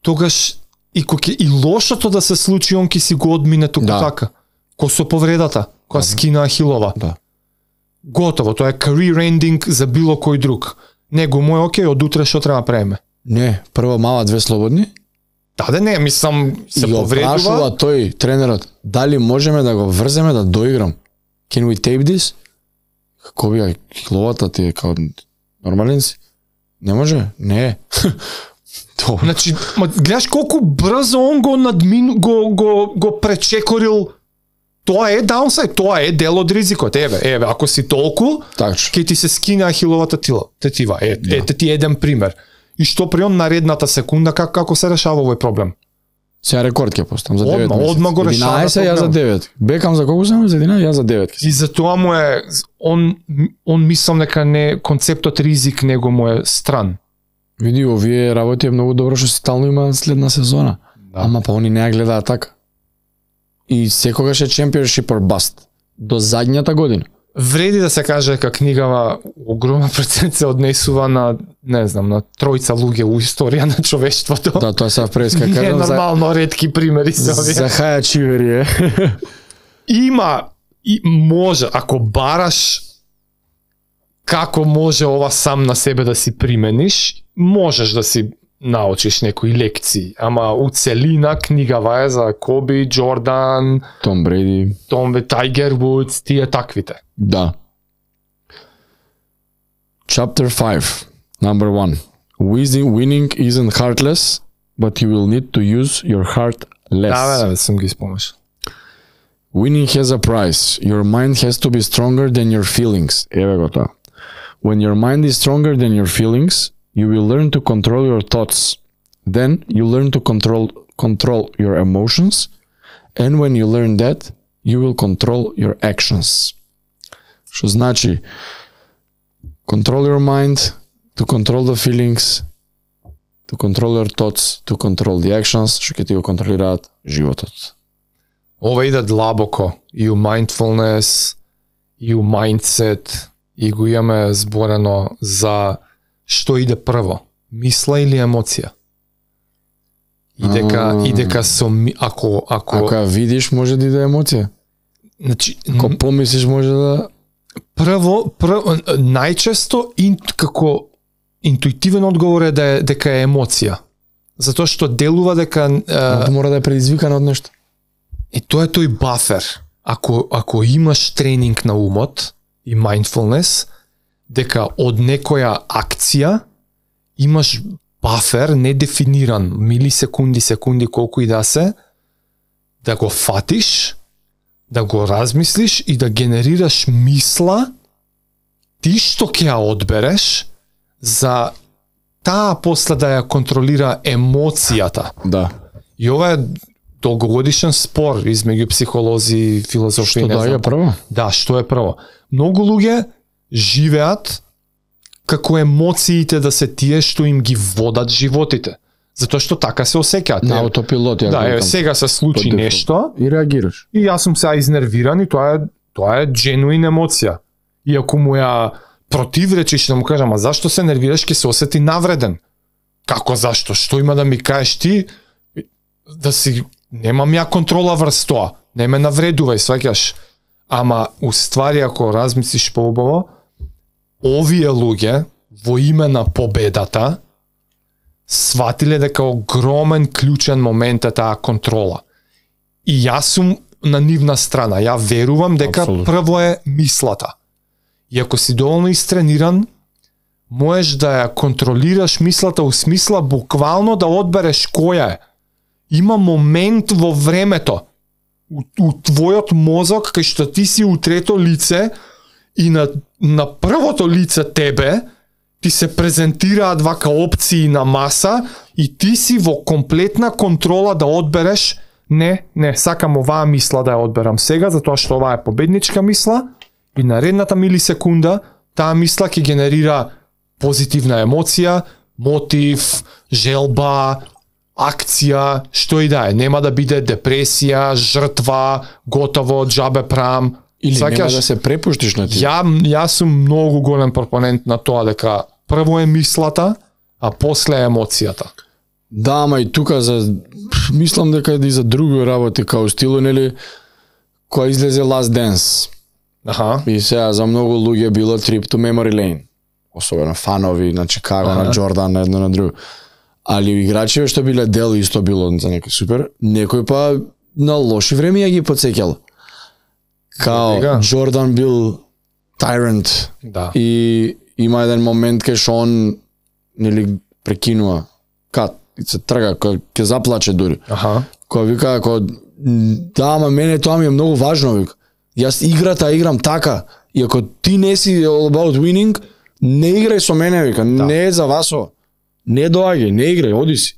тогаш и лошото да се случи, он ќе си го одмине току така. Ко со повредата, која скина Ахилова. Да. Готово, тоа е career ending за било кој друг. Него му е окей, од утре што треба правиме? Не, прво мала две слободни. Да, не, мислам се повредува. И го тој тренерот, дали можеме да го врземе да доиграм? Can we tape this? Како би Ахиловата ти е као нормален си? Не може? Не. Значи, гледаш колку брзо он го пречекорил. Тоа е даунсайд, тоа е дел од ризикот. Еве, ако си толку, ќе ти се скине Ахиловата тетива. Ете ти еден пример. И што при он наредната секунда како се решава овој проблем? Сега рекорд ќе постам за 9 месеци. Одма го решава. 11 ја за 9. Бекам за колку само за 11, ја за 9. И за тоа му е он мислам дека не концептот ризик него му е стран. Види, овие работи е многу добро што стално има следна сезона. Да. Ама па они не ја гледаат така. И секогаш е championship or bust. До задњата година. вреди да се каже дека книгава огромен процент се однесува на, не знам, на тројца луѓе у историја на човештвото. Да, тоа се преска Не кажам нормално ретки примери се овие. за Хаја Чивери е. Има и може, ако бараш како може ова сам на себе да си примениш, можеш да си научиш некои лекции, ама у целина книгава е за Коби, Джордан, Том Бреди. Тайгер Вудс, тие таквите. Да. Chapter 5, number 1. Winning isn't heartless, but you will need to use your heart less. Да, сум ги спомнеш. Winning has a price. Your mind has to be stronger than your feelings. Еве го тоа. When your mind is stronger than your feelings, you will learn to control your thoughts. Then you learn to control your emotions, and when you learn that, you will control your actions. Што значи control your mind, to control the feelings, to control your thoughts, to control the actions, што ќе ти го контролираат животот. Ова иде длабоко, и у mindfulness, и у mindset, и го имаме зборено за што иде прво, мисла или емоција. И дека со ако ја видиш може да иде емоција. Значи, ако помислиш може да прво најчесто како интуитивен одговор е дека е емоција. Затоа што делува дека мора да е предизвикан од нешто. Тоа е тој бафер. Ако имаш тренинг на умот и mindfulness, дека од некоја акција имаш бафер недефиниран, секунди, колку и да се, да го фатиш, да го размислиш и да генерираш мисла, ти што ќе ја одбереш, за таа после да ја контролира емоцијата. Да. И ова е долгогодишен спор измеѓу психолози и филозофи. Што да е прво? Да, што е прво. Многу луѓе живеат како емоциите да се тие што им ги водат животите. Затоа што така се осеќаат. На аутопилот ја. Да, сега се случи нешто и реагираш. И јас сум сега изнервиран и тоа е genuine емоција. И ако му ја противречиш да му кажам, а зашто се нервираш, ќе се осети навреден. Како зашто? Што има да ми кажеш ти? Да си немам ја контрола врз тоа. Не ме навредувај, сваќаш. Ама уствари ако размислиш поубаво, овие луѓе во име на победата сватиле дека огромен клучен момент е таа контрола. И јас сум на нивна страна. Ја верувам дека Абсолютно. прво е мислата. И ако си доволно истрениран, можеш да ја контролираш мислата у смисла буквално да одбереш која е. Има момент во времето у твојот мозок кај што ти си у трето лице и на првото лице тебе ти се презентираат вака опции на маса и ти си во комплетна контрола да одбереш не, сакам оваа мисла да ја одберам сега затоа што оваа е победничка мисла и наредната милисекунда таа мисла ќе генерира позитивна емоција, мотив, желба, акција, што и да е. Нема да биде депресија, жртва, готово, джабе прам. Или нема да се препуштиш на ти. Јас сум многу голем пропонент на тоа дека прво е мислата, а после е емоцијата. Да, ама и тука мислам дека и за други работи као стилу, нели, која излезе Last Dance. Аха. И сега за многу луѓе било Trip to Memory Lane. Особено фанови на Чикаго, на Джордан, на едно на друго. Али играчите што биле дел исто било за некој супер, некој па на лоши време ја ги потсеќал. Као Джордан бил tyrant. Да. И има еден момент кај што он нели прекинува кат и се трга, ќе заплаче дури. Аха. Кој вика ако да, ама мене тоа ми е многу важно, вика. Јас играта играм така и ако ти не си all about winning, не играј со мене, вика. Да. Не е за васо. Не доаѓај, не играј, оди си.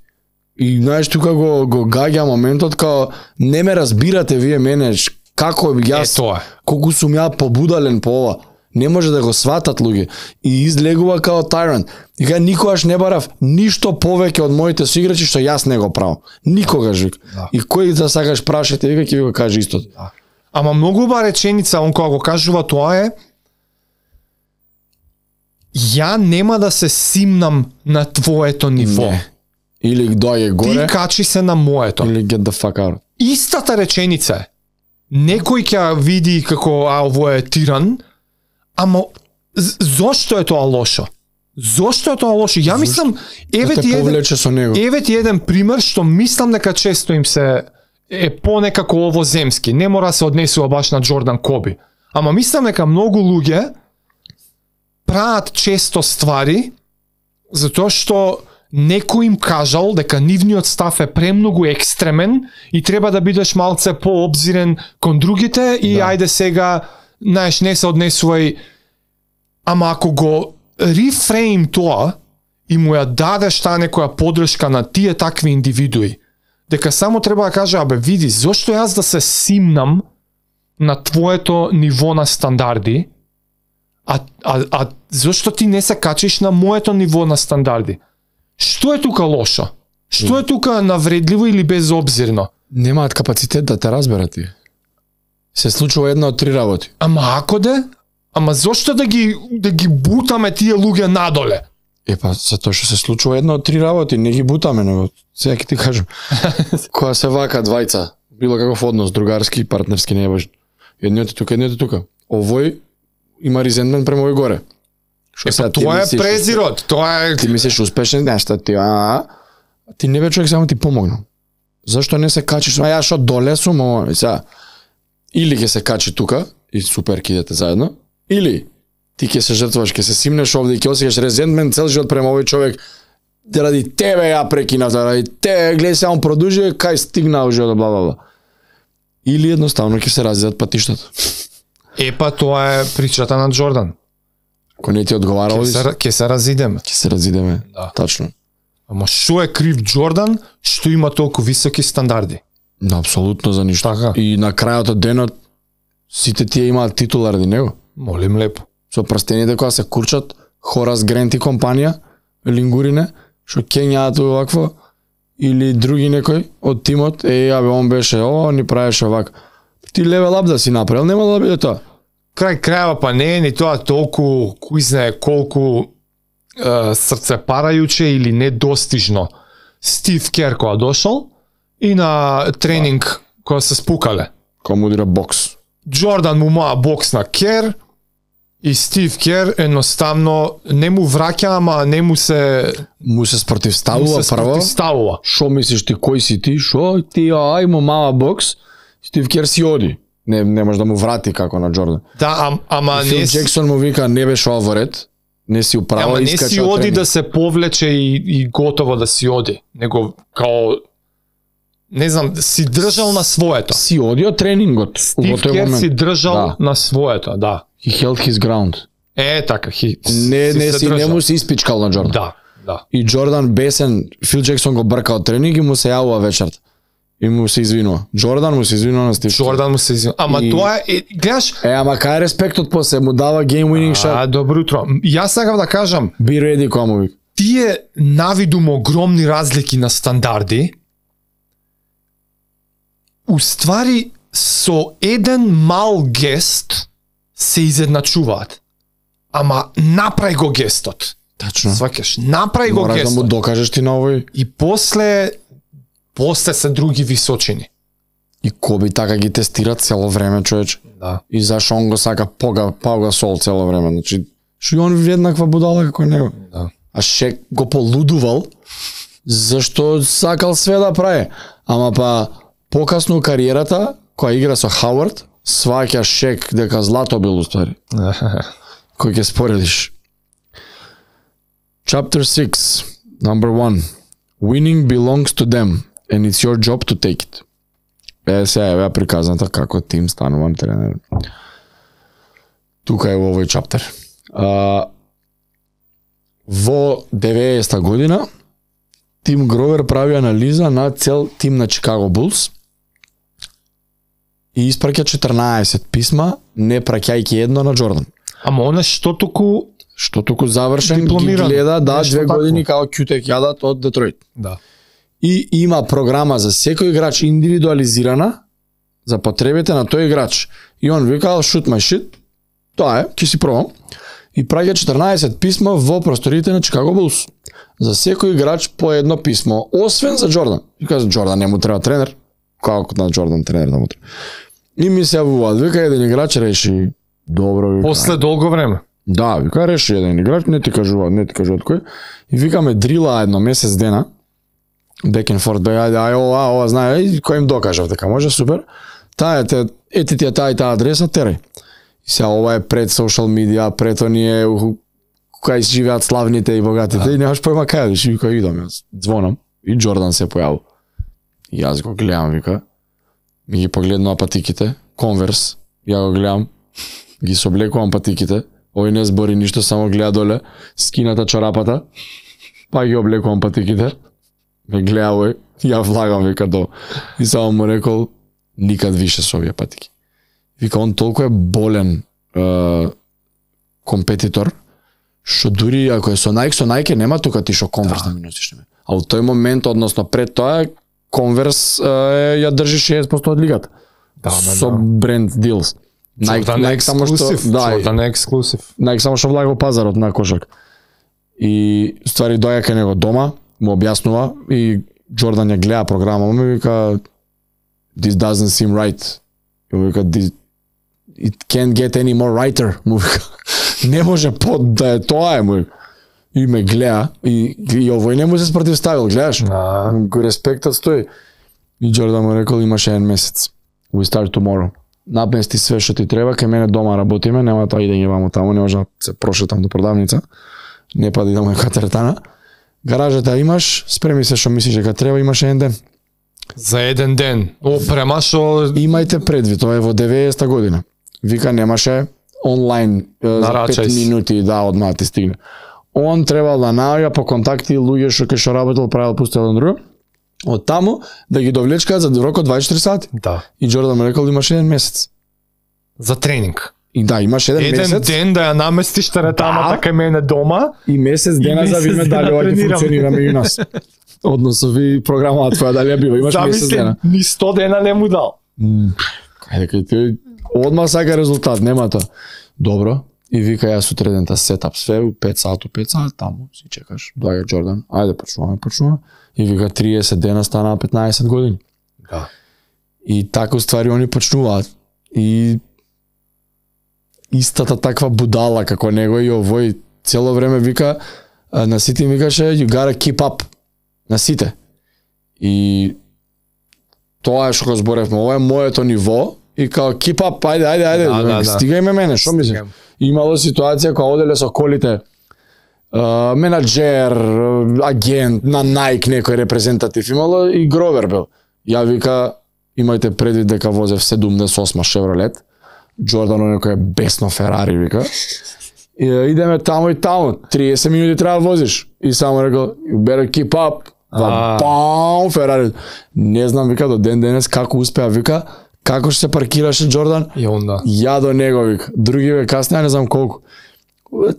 И знаеш тука го гаѓа моментот као не ме разбирате вие мене, како јас, колку сум ја побудален по ова. Не може да го сватат луѓе. И излегува као tyrant. И кај никогаш не барав ништо повеќе од моите соиграчи што јас не го правам. Никогаш, вика. Да. И кој да сакаш прашате, вика ќе ви го каже истото. Да. Ама многу убава реченица, он кога го кажува тоа е: ја нема да се симнам на твоето ниво. Не. Или доаѓе горе, Ти качи се на моето. или get the fuck out. Истата реченица е. Некој ќе ја види како ово е тиран, ама зошто е тоа лошо? Зошто е тоа лошо? Ја мислам, еве Да ти те еден, повлече со него. еве ти еден пример што мислам дека често им се е понекако овоземски. Не мора да се однесува баш на Джордан Коби. Ама мислам дека многу луѓе прават често ствари затоа што некој им кажал дека нивниот став е премногу екстремен и треба да бидеш малце пообзирен кон другите и ајде сега, знаеш, не се однесувај. Ама ако го рефрейм тоа и му ја дадеш таа некоја подршка на тие такви индивидуи, дека само треба да каже: абе види, зошто јас да се симнам на твоето ниво на стандарди, а зошто ти не се качиш на моето ниво на стандарди? Што е тука лошо? Што е тука навредливо или безобзирно? Немаат капацитет да те разберат ти. Се случува една од три работи. Ама ако де? Ама зошто да ги бутаме тие луѓе надоле? Епа, затоа што се случува една од три работи, не ги бутаме, него сега ќе ти кажам. Кога се вака двајца, било каков однос, другарски, партнерски, не е важно. Едниот е тука, едниот е тука. Овој има резентмент према овој горе. Што сега ти Тоа е мислиш, презирот, тоа е... Ти мислиш успешен, нешто ти, ти не бе човек само ти помогнал. Зашто не се качиш? Ја што доле сум, сега или ќе се качи тука и супер ќе идете заедно, или ти ќе се жртваш, ќе се симнеш овде и ќе осеќаш резентмент цел живот према овој човек. Ради тебе ја прекинав, ради тебе, гледај се, он продужи, кај стигнал живот, бла бла бла. Или едноставно ќе се разидат патиштата. Епа, тоа е причата на Джордан. Ако не ти одговара, Ќе се разидеме. ќе се разидеме. Да. Тачно. Ама што е крив Джордан што има толку високи стандарди? Да, апсолутно за ништо. Така. И на крајот од денот сите тие имаат титула ради него. Молим лепо. Со прстените кога се курчат, Хорас Грент и компанија, лингурине, што кењаат овакво, или други некој од тимот, абе, он беше, ни правеше овак. Ти левел ап да си направил, нема да биде тоа. Крај крајава па не е ни тоа толку, кој знае колку срцепарајуче или недостижно. Стив Кер кога дошол и на тренинг кога се спукале. Кога му удира бокс. Джордан му маа бокс на Кер и Стив Кер едноставно не му враќа, ама не му се спротивставува прво. Ставува. Шо мислиш ти, кој си ти? Шо ти, има мала бокс? Стив Кер си оди. Не може да му врати како на Джордан. Да, ама Фил не Джексон му вика, не беше ова во ред. Не си управа, ама не искача си од оди тренинг. да се повлече и готово да си оди. Него као не знам, си држал на своето. Си оди од тренингот. Стив Кер си држал на своето, да. He held his ground. Така, Не му се испичкал на Джордан. Да. И Джордан бесен, Фил Джексон го брка од тренинг и му се јавува вечерта. И му се извинува. Джордан му се извинува на Стив. Джордан му се извинува. Ама тоа е, гледаш... Ама кај респектот после му дава game winning shot. Добро утро. Јас сакам да кажам, Be ready, кога му вика. тие навидум огромни разлики на стандарди, уствари со еден мал гест се изедначуваат. Ама направи го гестот. Тачно. Сваќаш, направи го Мораш да гестот. му докажеш ти на овој. И после се други височини. И Коби така ги тестира цело време, човече. Да. И зашо он го сака Пау Гасол цело време. Значи, што и он еднаква будала како него. Да. А Шек го полудувал, зашто сакал све да прави. Ама па, покасно у кариерата, која игра со Хауард, сваќа Шек дека злато бил уствари. Кој ќе споредиш. Chapter 6, number 1. Winning belongs to them, and it's your job to take it. Сега е приказната како тим станувам тренер. Тука е во овој чаптер. Во 90-та година Тим Гровер прави анализа на цел тим на Чикаго Булс и испраќа 14 писма, не праќајќи едно на Джордан. Ама она што туку завршен дипломиран, ги гледа, да, нешто 2 такво. години као Кютек јадат од Детройт. Да. И има програма за секој играч индивидуализирана, за потребите на тој играч. И он викал shoot my shit. Тоа е, ќе си пробам. И праќа 14 писма во просториите на Чикаго Булс. За секој играч по едно писмо, освен за Џордан. И каза Џордан не му треба тренер. Како на Џордан тренер да му треба. И ми се јавуваат, вика еден играч реши добро, вика. После долго време. Да, вика реши еден играч, не ти кажуваат кој. И викаме дрила едно месец дена. Back and forth, ајде, ова, знае, кој им докажав дека може, супер. Ети ти таа и таа адреса, терај. И сега ова е пред социјал медија, пред оние кај живеат славните и богатите, и немаш појма кај одиш, и вика идам јас, звонам, и Џордан се појавил. И јас го гледам, вика, ми ги погледнува патиките, Конверс, ја го гледам, ги соблекувам патиките, овој не збори ништо, само гледа доле, скината чорапата, па ги облекувам патиките, ме гледа овој, ја влагам, вика до. И само му рекол, никад више со овие патики. Вика, он толку е болен компетитор, што дури ако е со Nike нема тука ти шо Конверс да ми носиш. А во тој момент, односно пред тоа, Конверс ја држи 60% од лигата. Со бренд deals. Nike само што Jordan ексклузив. Nike само што влага во пазарот на кошарка. И ствари доаѓа кај него дома, му објаснува и Џордан ја гледа програма, му вика this doesn't seem right. И вика it can't get any more righter. Му вика не може да е тоа му. И ме гледа и овој не му се спротивставил, гледаш? Го респектот стои. И Џордан му рекол имаш еден месец. We start tomorrow. Напнести све што ти треба, кај мене дома работиме, нема тоа идење вамо таму, не може да се прошетам до продавница. Не па да идам кај теретана. Гаражата имаш, спреми се што мислиш дека треба, имаш еден ден. За еден ден. Опрема што имајте предвид, тоа е во 90-та година. Вика немаше онлайн за 5 минути да одма ти стигне. Он требал да наоѓа по контакти луѓе што работел, правил пусто еден друг. Од таму да ги довлечкаат за рок од 24 сати. Да. И Џордан му рекол имаш еден месец. За тренинг. И да, имаш еден месец. Еден ден да ја наместиш теретамата кај мене дома. И месец дена за видиме дали ова ќе функционира меѓу нас. Односно ви програмата твоја дали ја бива, имаш месец дена. Ни 100 дена не му дал. Кај тој одма сака резултат, нема тоа. Добро. И вика јас сутредента сетап све, 5 сати, таму си чекаш. Доаѓа Џордан, ајде почнуваме. И вика 30 дена стана 15 години. Да. И така уствари они почнуваат. И истата таква будала како него и овој цело време вика на сите им викаше you gotta keep up. На сите. И тоа е што го зборевме, ова е моето ниво и као keep up, ајде, стигај мене, што мислиш? Имало ситуација кога оделе со колите менаџер, агент на Nike, некој репрезентатив имало и Гровер бил. Ја вика имајте предвид дека возев 78 Chevrolet, Џордан некој е бесно Ферари вика. И идеме таму и таму, 30 минути треба да возиш. И само рекол you better keep up. Бам, Ферари. Не знам вика до ден денес како успеа вика, како што се паркираше Џордан. Ја до него вика. Други ве каснеа не знам колку.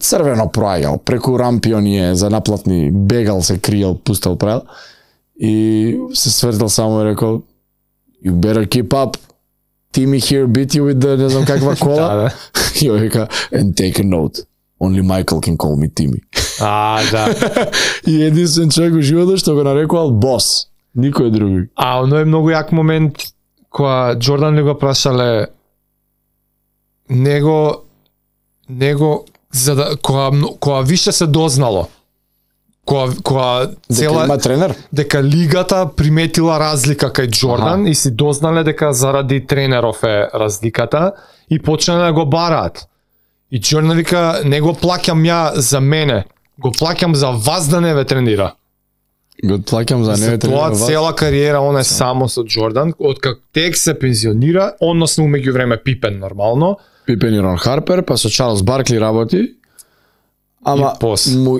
Црвено проаѓал, преку рампи оние за наплатни, бегал се криел, пустал правил. И се свртел само и рекол you better keep up. Timmy here beat you with the не знам каква кола. И вика and take a note. Only Michael can call me Timmy. Да. И единствен човек во животот што го нарекувал бос. Никој други. Оно е многу јак момент кога Џордан ли го прашале него за да кога више се дознало. Кога цела има тренер, дека лигата приметила разлика кај Џордан и си дознале дека заради тренеров е разликата и почнале да го бараат. И Џордан вика не го плаќам ја за мене, го плаќам за вас да не ве тренира. Го плаќам за не ве тренира. Тоа цела кариера он е само со Џордан, откак тек се пензионира, односно умеѓу време Пипен нормално. Пипен и Рон Харпер, па со Чарлс Баркли работи. Ама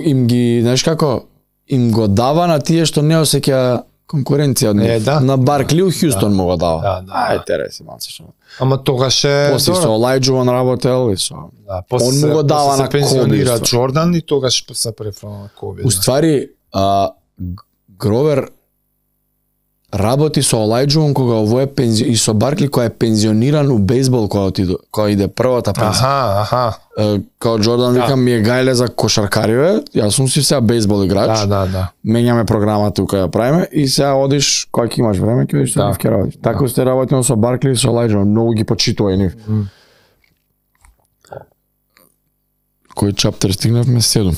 им ги, знаеш како, им го дава на тие што не осеќа конкуренција од нив. На Баркли у Хјустон му го дава. Ај тереси малце што. Ама тогаш е после со Олајџуван работел и со. Он му го дава на пензионира Џордан и тогаш се префрла на Коби. Уствари Гровер работи со Олајджон кога овој и со Баркли кој е пензиониран у бейсбол кога иде првата пензија. Као Джордан вика ми е гајле за кошаркариве, јас сум си сега бейсбол играч. Да. Менјаме програмата тука ја правиме и сега одиш кога ќе имаш време ќе одиш со нив ќе работиш. Така сте работено со Баркли и со Олајджон, многу ги почитува и нив. Кој чаптер стигнавме? 7.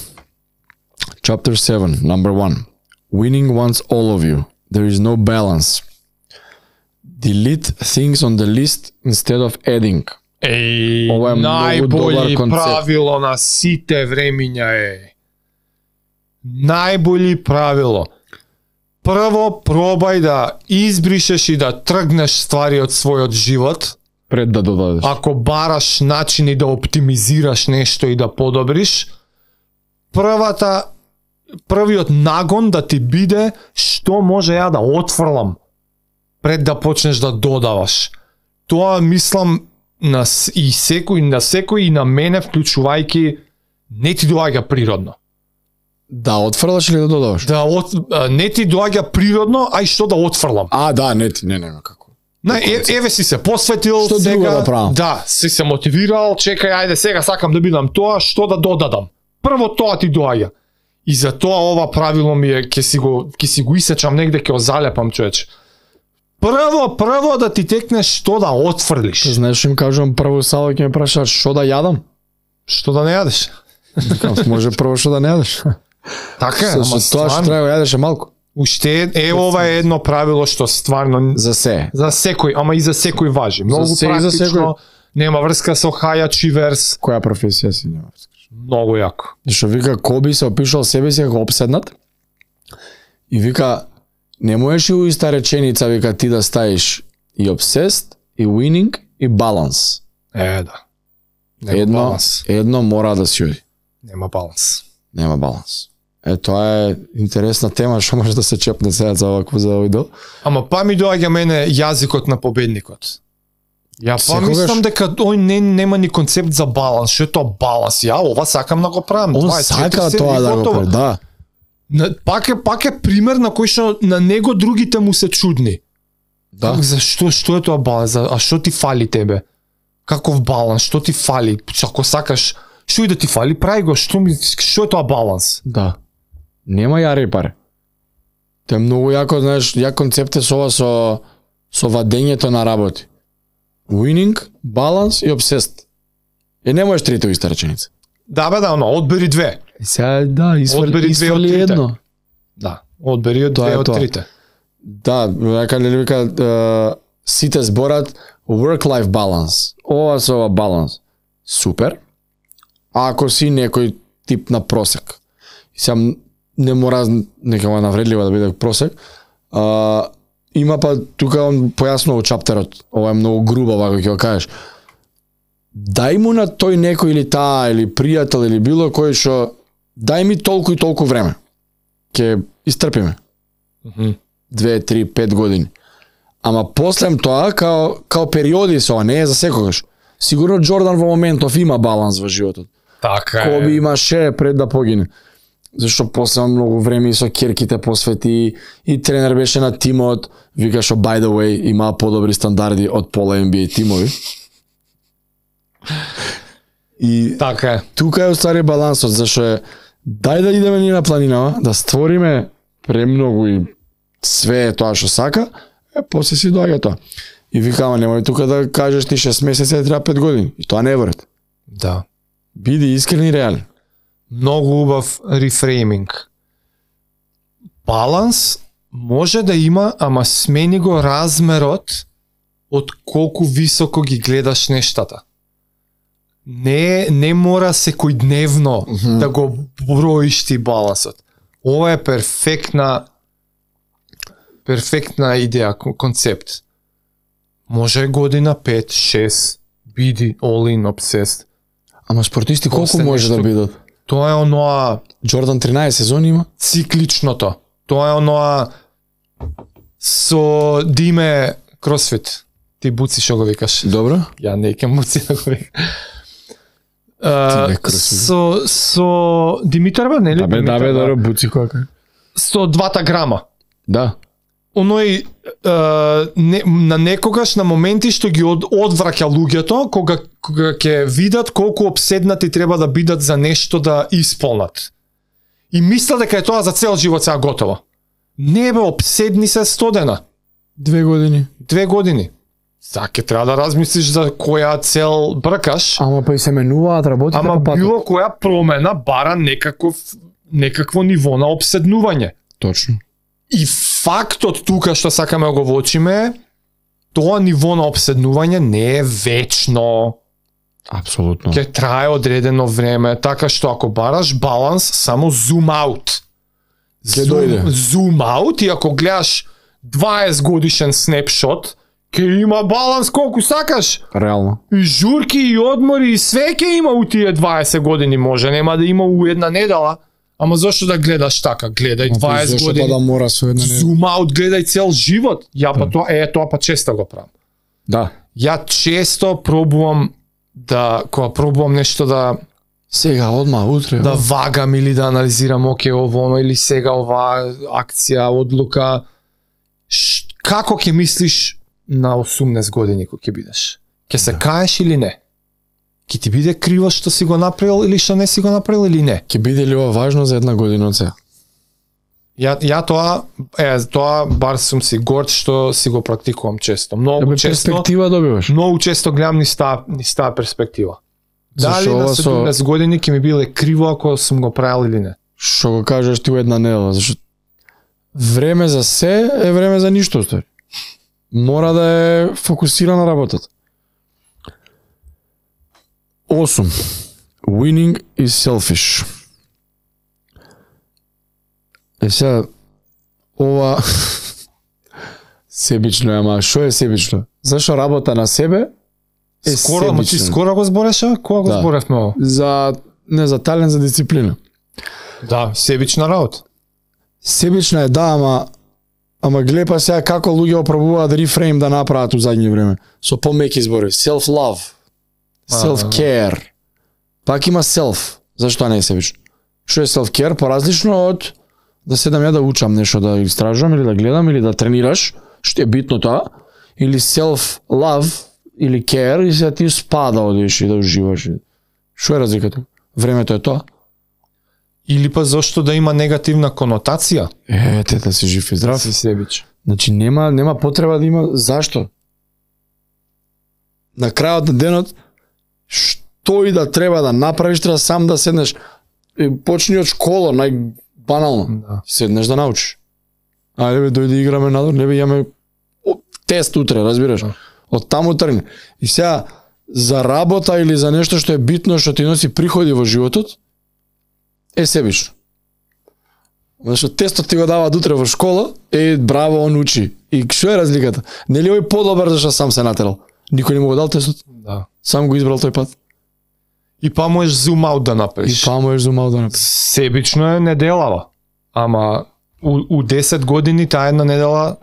Chapter 7, number 1. Winning wants all of you. There is no balance. Delete things on the list instead of adding. Ова е најбољи правило на сите времиња е. Најбољи правило. Прво пробај да избришеш и да тргнеш ствари од својот живот пред да додадеш. Ако бараш начини да оптимизираш нешто и да подобриш, првиот нагон да ти биде што може ја да отфрлам пред да почнеш да додаваш. Тоа мислам на секој и на мене вклучувајќи не ти доаѓа природно. Да отфрлаш или да додаваш? Не ти доаѓа природно, а и што да отфрлам. Не, како. Еве си се посветил, што сега си се мотивирал, чекај, ајде сега сакам да бидам тоа, што да додадам. Прво тоа ти доаѓа. И за тоа ова правило ми е, ќе си го исечам негде, ќе го залепам, човече. Прво да ти текнеш што да отфрлиш. Знаеш што им кажувам, прво сало ќе ме прашаат што да јадам? Што да не јадеш? Може прво што да не јадеш. Така е, ама тоа што треба јадеш е малку. Уште ова е едно правило што стварно за секој, ама и за секој важи. Многу практично, нема врска со хајач и верс. Која професија си нема врска? Многу јако. Што вика Коби се опишал себе си како обседнат и вика не можеш и у иста реченица вика ти да ставиш и obsessed, и winning, и баланс. Да. Едно мора да си оди. Нема баланс. Тоа е интересна тема што може да се чепне сега за овој дел. Ама ми доаѓа мене јазикот на победникот. Ја мислам дека ој нема ни концепт за баланс. Што е тоа баланс? Ова сакам да го правам. Он сака тоа да го прави, да. Пак е пример на кој што на него другите му се чудни. Да. Што е тоа баланс? А што ти фали тебе? Каков баланс? Што ти фали? Ако сакаш, што и да ти фали, прави го. Што е тоа баланс? Да. Нема јаре паре. Тоа е многу јако, знаеш, ја концепт е со вадењето на работи. Winning, баланс и obsessed. Не можеш трите у иста реченица. Одбери две. Сега, извали едно. Да, одбери две од трите. Да, вика, сите зборат work-life balance. Ова се ова баланс. Супер. А ако си некој тип на просек, сега не мора некава навредлива да биде просек, има па тука он појаснува чаптерот, ова е многу грубо вака ќе го кажеш. Дај му на тој некој или таа или пријател или било кој што дај ми толку и толку време. Ќе истрпиме. 2, 3, 5 години. Ама после тоа као периоди се ова, не е за секогаш. Сигурно Джордан во моментов има баланс во животот. Така е. Коби имаше пред да погине. Зашто после многу време и со керките посвети и тренер беше на тимот, вика што by the way има подобри стандарди од пола NBA тимови. И така е. Тука е уствари балансот, зашто е дај да идеме ние на планинава, да створиме премногу и све тоа што сака, после си доаѓа тоа. И вика, ама немој тука да кажеш ти 6 месеци треба 5 години. И тоа не е вред. Да. Биди искрен и реален. Многу убав рефрейминг. Баланс може да има, ама смени го размерот од колку високо ги гледаш нештата. Не мора секојдневно да го броиш ти балансот. Ова е перфектна идеја, концепт. Може година 5, 6, биди all in obsessed. Ама спортисти колку може да бидат? Тоа е оноа Джордан 13 сезони има? Цикличното. Тоа е оноа со диме кросфит. Ти буци што го викаш. Добро. Ја не ке буци да го викам. Со Димитарова, нели? Да, буци која. Со 2 грама. Да. оној на некогаш на моменти што ги одвраќа луѓето кога ќе видат колку обседнати треба да бидат за нешто да исполнат. И мисля дека е тоа за цел живот сега готово. Не бе, обседни се 100 дена. 2 години. 2 години. Сега ќе треба да размислиш за која цел бркаш. Ама па и се менуваат работите Ама по патот. било која промена бара некакво ниво на обседнување. Точно. И фактот тука што сакаме да го воочиме, тоа ниво на обседнување не е вечно. Апсолутно. Ќе трае одредено време, така што ако бараш баланс, само зум аут. Ќе дојде. Зум аут и ако гледаш 20 годишен снапшот, ќе има баланс колку сакаш. Реално. И журки, и одмори, и све ќе има у тие 20 години, може нема да има у една недела. Ама зошто да гледаш така? Гледај 20 Зошто години. па да мора со една недела? Зум аут, гледај цел живот. Ја па тоа па често го правам. Да. Ја често пробувам кога пробувам нешто да Сега, одма, утре. да вагам или да анализирам ово или сега оваа акција, одлука. Како ќе мислиш на 18 години кога ќе бидеш? Ќе се каеш или не? Ќе ти биде криво што си го направил или што не си го направил или не? Ќе биде ли ова важно за една година од сега? Ја тоа бар сум си горд што си го практикувам често. Ебе, перспектива добиваш. Многу често гледам ни стаа перспектива. Дали Зашо на ова 17 години ќе ми биле криво ако сум го правил или не? Што го кажеш ти у една недела, зашто време за се е време за ништо, ствари. Мора да е фокусирана работата. 8. Winning is selfish. Сега, ова себично е, ама што е себично? Зашо работа на себе е Скоро, ма ти себично. скоро го збореше? Кога го Да. зборевме ово? За талент, за дисциплина. Да, себична работа. Себична е, да, ама гледа па сега како луѓе опробуваат рефрейм да направат у задње време. Со помеки зборови. Self-love. Self-care. Пак има self. Зашто не е себично? Што е self-care? Поразлично од да седам ја да учам нешто, да истражувам или да гледам или да тренираш, што е битно тоа, или self-love или care и сега ти спада одиш и да уживаш. Што е разликата? Времето е тоа. Или па зошто да има негативна конотација? Тета си жив и здрав. Си себич. Значи нема потреба да има. Зашто? На крајот на денот што и да треба да направиш, треба сам да седнеш. Почни од школа, најбанално. Да. Седнеш да научиш. Ајде бе, дојде играме надвор, не бе имаме тест утре, разбираш? Од таму тргне. И сега за работа или за нешто што е битно, што ти носи приходи во животот, е себично. Зашто тестот ти го даваат утре во школа, браво, он учи. И што е разликата? Нели овој подобар зашто сам се натерал? Никој не му го дал тестот? Да. Сам го избрал тој пат. И па можеш зум аут да И направиш. па можеш зумал да направиш. Себично е неделава. Ама у 10 години таа една недела,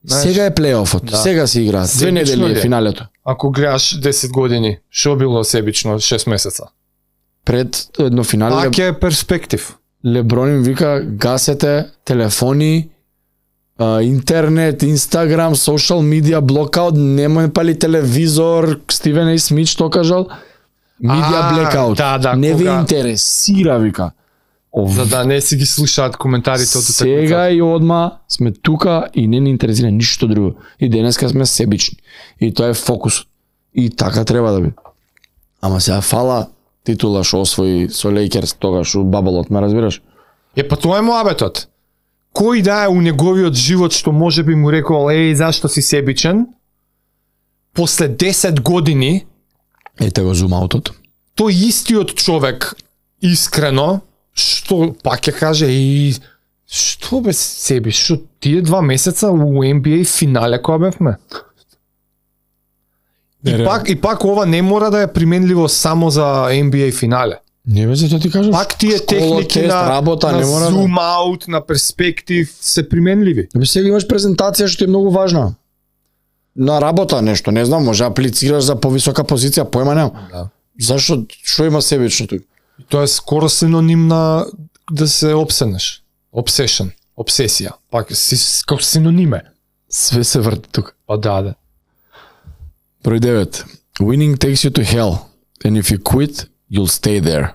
знаеш, Сега е плейофот, Да. сега се играат. 2 Себично недели ли е е? финалето. ако гледаш 10 години, што било себично 6 месеца? Пред едно финале Пак е перспектив. Леброн им вика гасете телефони, интернет, Инстаграм, социјал медија, блокаут, немој пали телевизор, Стивен А. Смит што кажал? Медија блекаут. да, не ви кога- интересира, вика. За да не си ги слушаат коментарите од Сега и одма сме тука и не ни интересира ништо друго. И денеска сме себични. И тоа е фокусот. И така треба да биде. Ама сега фала титула што освои со Лейкерс тогаш у баблот, ме разбираш? Па тоа е муабетот. Кој да е у неговиот живот што може би му рекол, зашто си себичен? После 10 години, Ете го зумаутот. тој истиот човек, искрено, што пак ќе каже, што бе себиш, што тие 2 месеца у NBA финале која бевме? И пак ова не мора да е применливо само за NBA финале. Не бе, зато ти кажам. Пак тие школа, техники тест, на, работа, на не мора зум аут, на перспектив се применливи. Бе, сега имаш презентација што е многу важна. На работа нешто, не знам, може аплицираш за повисока позиција, појма немам. Да. Зашо, што има себично тука? Тоа е скоро синоним на да се обсенеш. Obsession. Обсесија. Пак како синониме. Све се врти тука. Па да. Број 9. Winning takes you to hell, and if you quit, you'll stay there.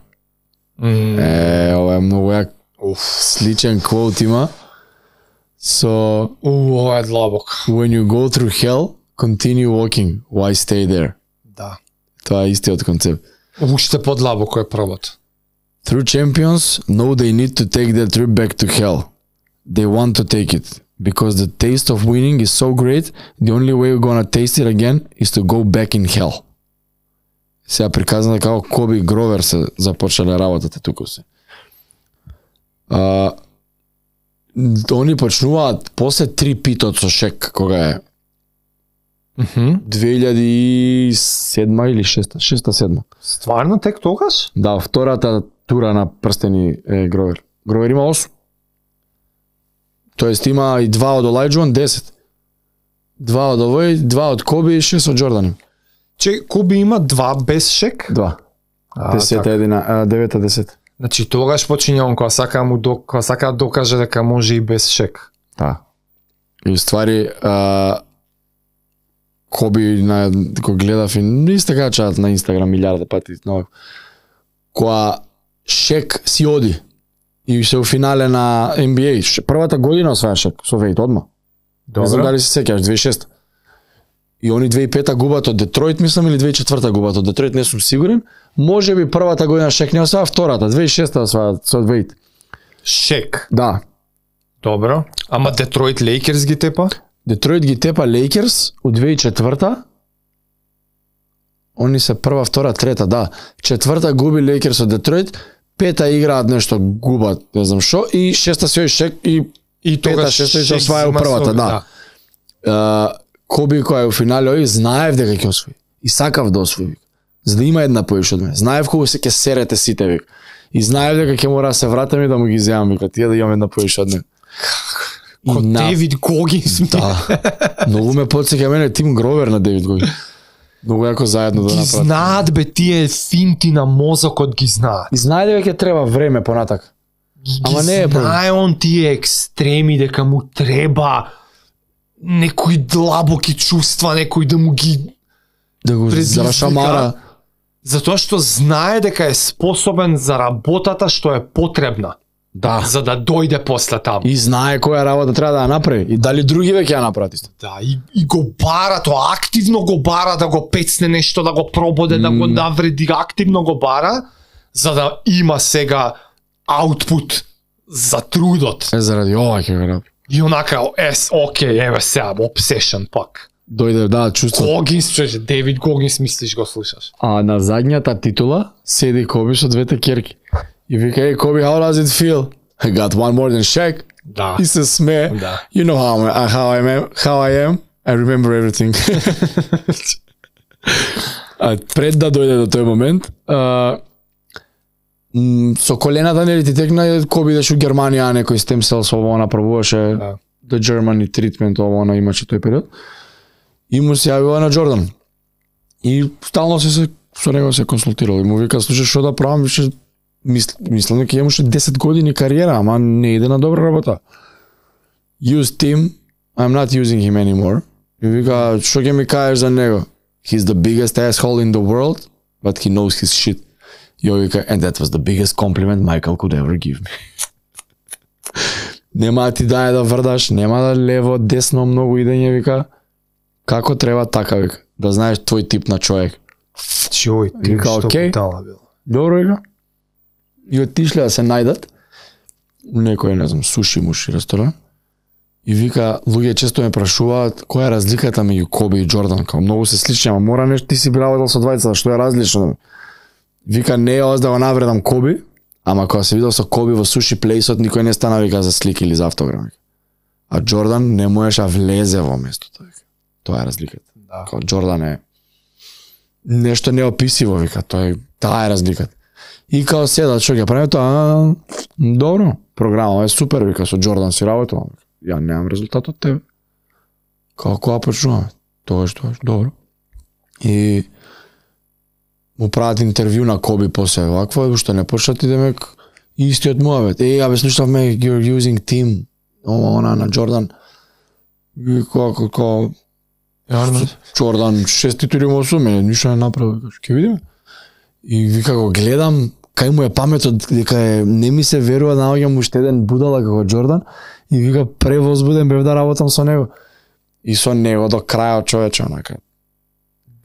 Ова е многу јак. Сличен квот има. So, ова е длабок. When you go through hell, continue walking. Why stay there? Да. Тоа е истиот концепт. Уште подлабоко е првото. True champions know they need to take their trip back to hell. They want to take it. Because the taste of winning is so great, the only way we're gonna taste it again is to go back in hell. Сега приказано како Коби Гровер се започнале работата тука се. Они почнуваат после 3 питот со Шек, кога е 2007 или 6-7. Стварно тек тогаш? Да, втората тура на прстени е Гровер. Гровер има 8. Тоест има и 2 од Олајджуан, 10. 2 од овој, 2 од Коби и 6 од Джордан. Коби има 2 без Шек? 2. 9-10. Значи тогаш почиња он кога сака да докаже дека може и без Шек. Да. И ствари Коби го гледав и исто качаат на Инстаграм милиарда пати, кога Шек си оди и се у финале на NBA, првата година осваја Шек со Вејд одма. Не знам дали се сеќаш, 2006. И они 2005 губат од Детройт, мислам, или 2004 губат од Детройт, не сум сигурен. Може би првата година Шек не осваја, втората, 2006 осваја со Вејд. Шек? Да. Добро. Ама Детройт Лейкерс ги тепа? Детройт ги тепа Лейкерс у 2004. Они се прва, втора, трета, да. Четврта губи Лейкерс од Детройт, пета играат нешто, губат, не знам шо, и шеста се Шек и пета, шеста се осваја у првата, да. Коби која е у финале ови, знаев дека ќе освои. И сакав да освои. За да има една поиш од мене. Знаев кога се ќе серете сите, вик. И знаев дека ќе мора да се вратам и да му ги земам, вика, тие да имам една поиш од мене. Ко Девид Когинс. Да. Многу ме потсеќа мене Тим Гровер на Девид Когинс. Многу јако заедно да направат. Ги знаат бе тие финти на мозокот, ги знаат. И знае дека ќе треба време понатак. Ама не е знае он тие екстреми дека му треба некои длабоки чувства, некој да му ги зашамара. Затоа што знае дека е способен за работата што е потребна. Да. За да дојде после таму. И знае која работа треба да ја направи. И дали други веќе ја направат исто. Да, и го бара тоа, активно го бара да го пецне нешто, да го прободе, да го навреди, активно го бара, за да има сега аутпут за трудот. Заради ова ќе го направи. И онака, окей, еве сега, obsession пак. Дојде, да, чувство. Когинс, чуеш, Девид Когинс, мислиш го слушаш. А на задњата титула седи Коби со двете керки. И вика, hey Kobe, how does it feel? I got one more than Shaq. Да. И се смее. Да. You know how I am. I remember everything. Пред да дојде до тој момент, со колената нели ти текна, Коби идеше у Германија, некој stem cells, ово направуваше, the Germany treatment, ово имаше тој период. И му се јавила на Джордан. И стално се со него се консултирал. И му вика, слушай, што да правам, више мислам дека имаше 10 години кариера, ама не иде на добра работа. Use Tim, I'm not using him anymore. И вика, што ќе ми кажеш за него? He's the biggest asshole in the world, but he knows his shit. И вика, and that was the biggest compliment Michael could ever give me. Нема да ти даде да врдаш, нема да лево, десно, многу идење, вика. Како треба така, вика, да знаеш твој тип на човек. Чој, ти што бутала бил. Добро, вика. И отишле да се најдат у некој, не знам, суши-муши ресторан. И вика, луѓе често ме прашуваат која е разликата меѓу Коби и Джордан, као многу се слични, ама мора нешто, ти си работел со двајцата, што е различно. Вика, не е да го навредам Коби, ама кога се видел со Коби во суши плейсот, никој не стана, вика, за слики или за автограм. А Джордан не можеше да влезе во местото. Тоа е разликата. Да. Као Джордан е нешто неописиво, вика, таа е разликата. И као седат, што ќе прави тоа, добро, програма е супер, вика, со Джордан си работувам. Ја немам резултат од тебе. Као кога почнуваме? Тогаш, добро. И му прават интервју на Коби после вакво, уште не почнат и демек истиот муавет. Абе, слушавме, you're using Tim. она на Джордан. И како Джордан 6 титули му осуме, ништо не направи, ќе видиме. И вика го гледам, кај му е паметот, дека не ми се верува, наоѓам уште еден будала како Джордан, и вика превозбуден бев да работам со него. И со него до крајот, човече, онака,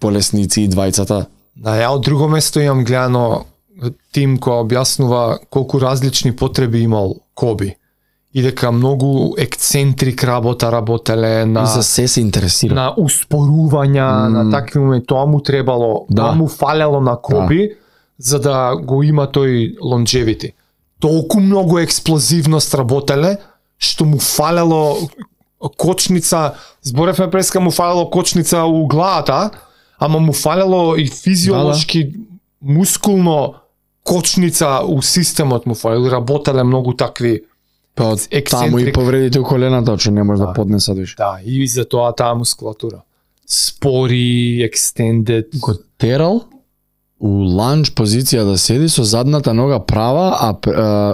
болесници и двајцата. Да, ја од друго место имам гледано тим кој објаснува колку различни потреби имал Коби. И дека многу ексцентрик работеле на... И за се интересира. На успорувања, на такви моменти, тоа му требало, тоа му фалело на Коби, за да го има тој longevity. Толку многу експлозивност работеле, што му фалело кочница, зборевме преска, му фалело кочница у главата, ама му фалело и физиолошки, мускулно кочница у системот му фалело, работеле многу такви таму и повредите у колената, че не може да поднесат више. Да, и за тоа таа мускулатура. Спори, extended. Го терал у ланч позиција да седи со задната нога права,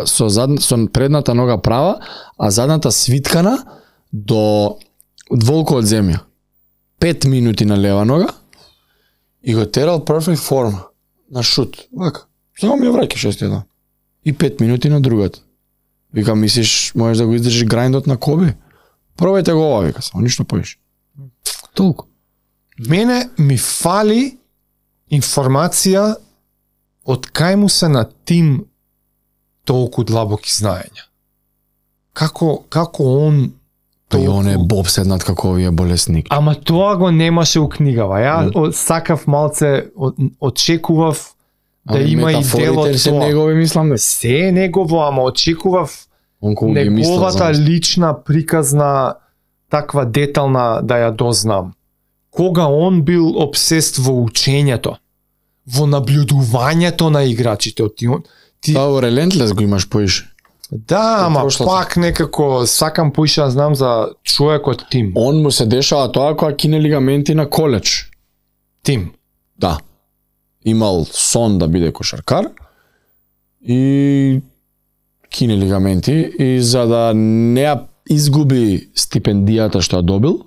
со предната нога права, а задната свиткана до дволко од земја. 5 минути на лева нога и го терал perfect form на шут. Вака. Само ми ја враќа 6-1. И 5 минути на другата. Вика, мислиш, можеш да го издржиш грајндот на Коби? Пробајте го ова, вика, само ништо поиш. Толку. Мене ми фали информација од кај му се на тим толку длабоки знаења. Како он Па и он е бобседнат како овие болесник. Ама тоа го немаше у книгава. Ја сакав малце, очекував да има и дел од се тоа. негови, мислам да. Се е негово, ама очекував неговата лична приказна, таква детална да ја дознам. Кога он бил обсест во учењето, во наблюдувањето на играчите. Тоа Relentless го имаш поише. Да, ама пак некако сакам поише да знам за човекот Тим. Он му се дешава тоа кога кине лигаменти на коледж. Тим. Да. Имал сон да биде кошаркар и кине лигаменти и за да не ја изгуби стипендијата што ја добил,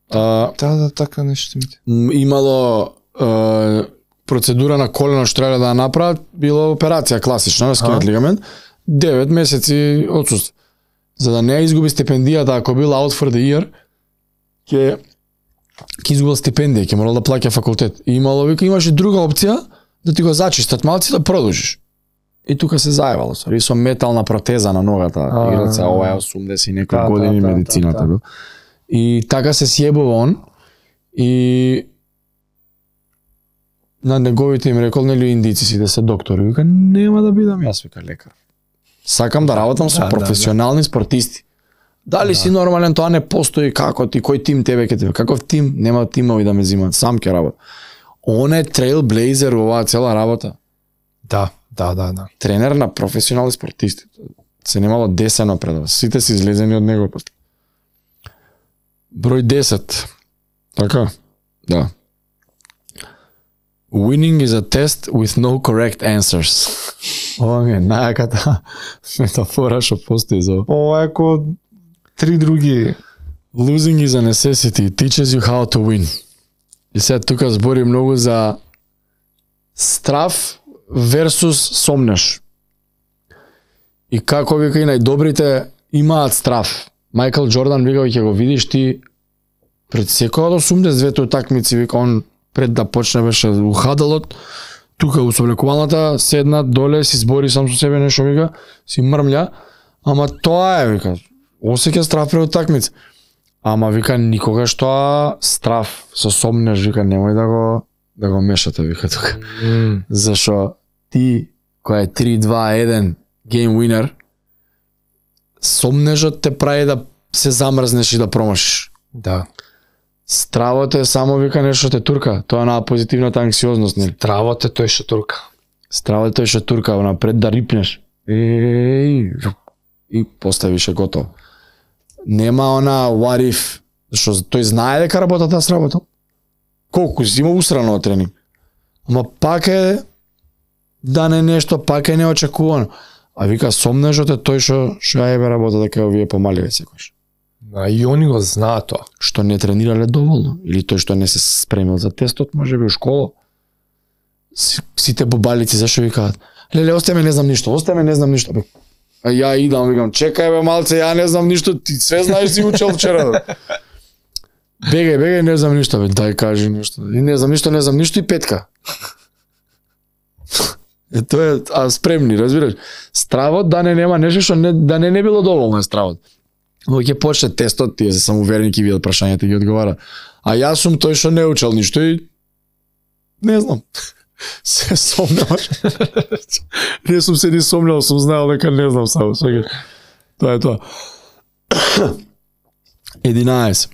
така нешто имало процедура на колено што треба да ја направат, било операција класична, да скинат лигамент, 9 месеци отсуство. За да не ја изгуби стипендијата, ако бил out for the year, ќе изгубил стипендија, ќе морал да плаќа факултет. И имаше друга опција да ти го зачистат малци да продолжиш. И тука се заебало, со метална протеза на ногата, играца, ова е 80 и некои години медицината бил. И така се сјебува он и на неговите им рекол, нели индици си да се доктори, вика нема да бидам јас, вика лекар. Сакам да работам со професионални спортисти. Дали си нормален, тоа не постои, како ти, кој тим тебе ке тебе, каков тим, нема тимови да ме зимат, сам ќе работам. Он е трейлблейзер во оваа цела работа. Да. Тренер на професионални спортисти. Се немало десено пред вас. Сите се излезени од него. Број 10. Така? Да. Winning is a test with no correct answers. Ова ми е најаката метафора што постои за ова. Е ко 3 други. Losing is a necessity. It teaches you how to win. И сега тука збори многу за страф versus сомнеш. И како вика и најдобрите имаат страф. Майкл Джордан вика ќе го видиш ти пред секоја од 82 утакмици, вика он пред да почне беше ухадалот, тука у соблекувалната седна доле, си збори сам со себе нешто, вика, си мрмља, ама тоа е, вика, осеќа страф пред утакмици. Ама вика никогаш тоа страф со сомнеш, вика немој да го мешате, вика тука. Зашо ти кој е 3-2-1 game winner, сомнежот те прави да се замрзнеш и да промашиш. Да. Стравото е само вика нешто те турка, тоа на позитивната анксиозност, нели? Стравото е тој што турка. Стравото е тој што турка, напред да рипнеш. И поставише готово. Нема она what if, што тој знае дека работата сработил. Колку си има усрано од тренинг. Ама пак е да не нешто, пак е неочекувано. А вика сомнежот е тој што ја ебе работа дека овие помаливе секојаш. И они го знаат тоа. Што не тренирале доволно или тој што не се спремил за тестот, можеби у школа. Сите бубалици зашо викаат: "Леле, остај не знам ништо, остај не знам ништо." А ја идам, викам: "Чекај бе малце, ја не знам ништо, ти све знаеш, си учел вчера." Бегај, не знам ништо, бе, дај кажи нешто. И не знам ништо и петка. Тоа е, спремни, разбираш? Стравот да нема нешто што да не било доволно е стравот. Но ќе почне тестот, тие се самоуверени ќе видат прашањата и ги одговара. А јас сум тој што не учел ништо и не знам. Се сомневаш. Не сум се ни сомнел, сум знаел дека не знам само. Тоа е тоа. 11.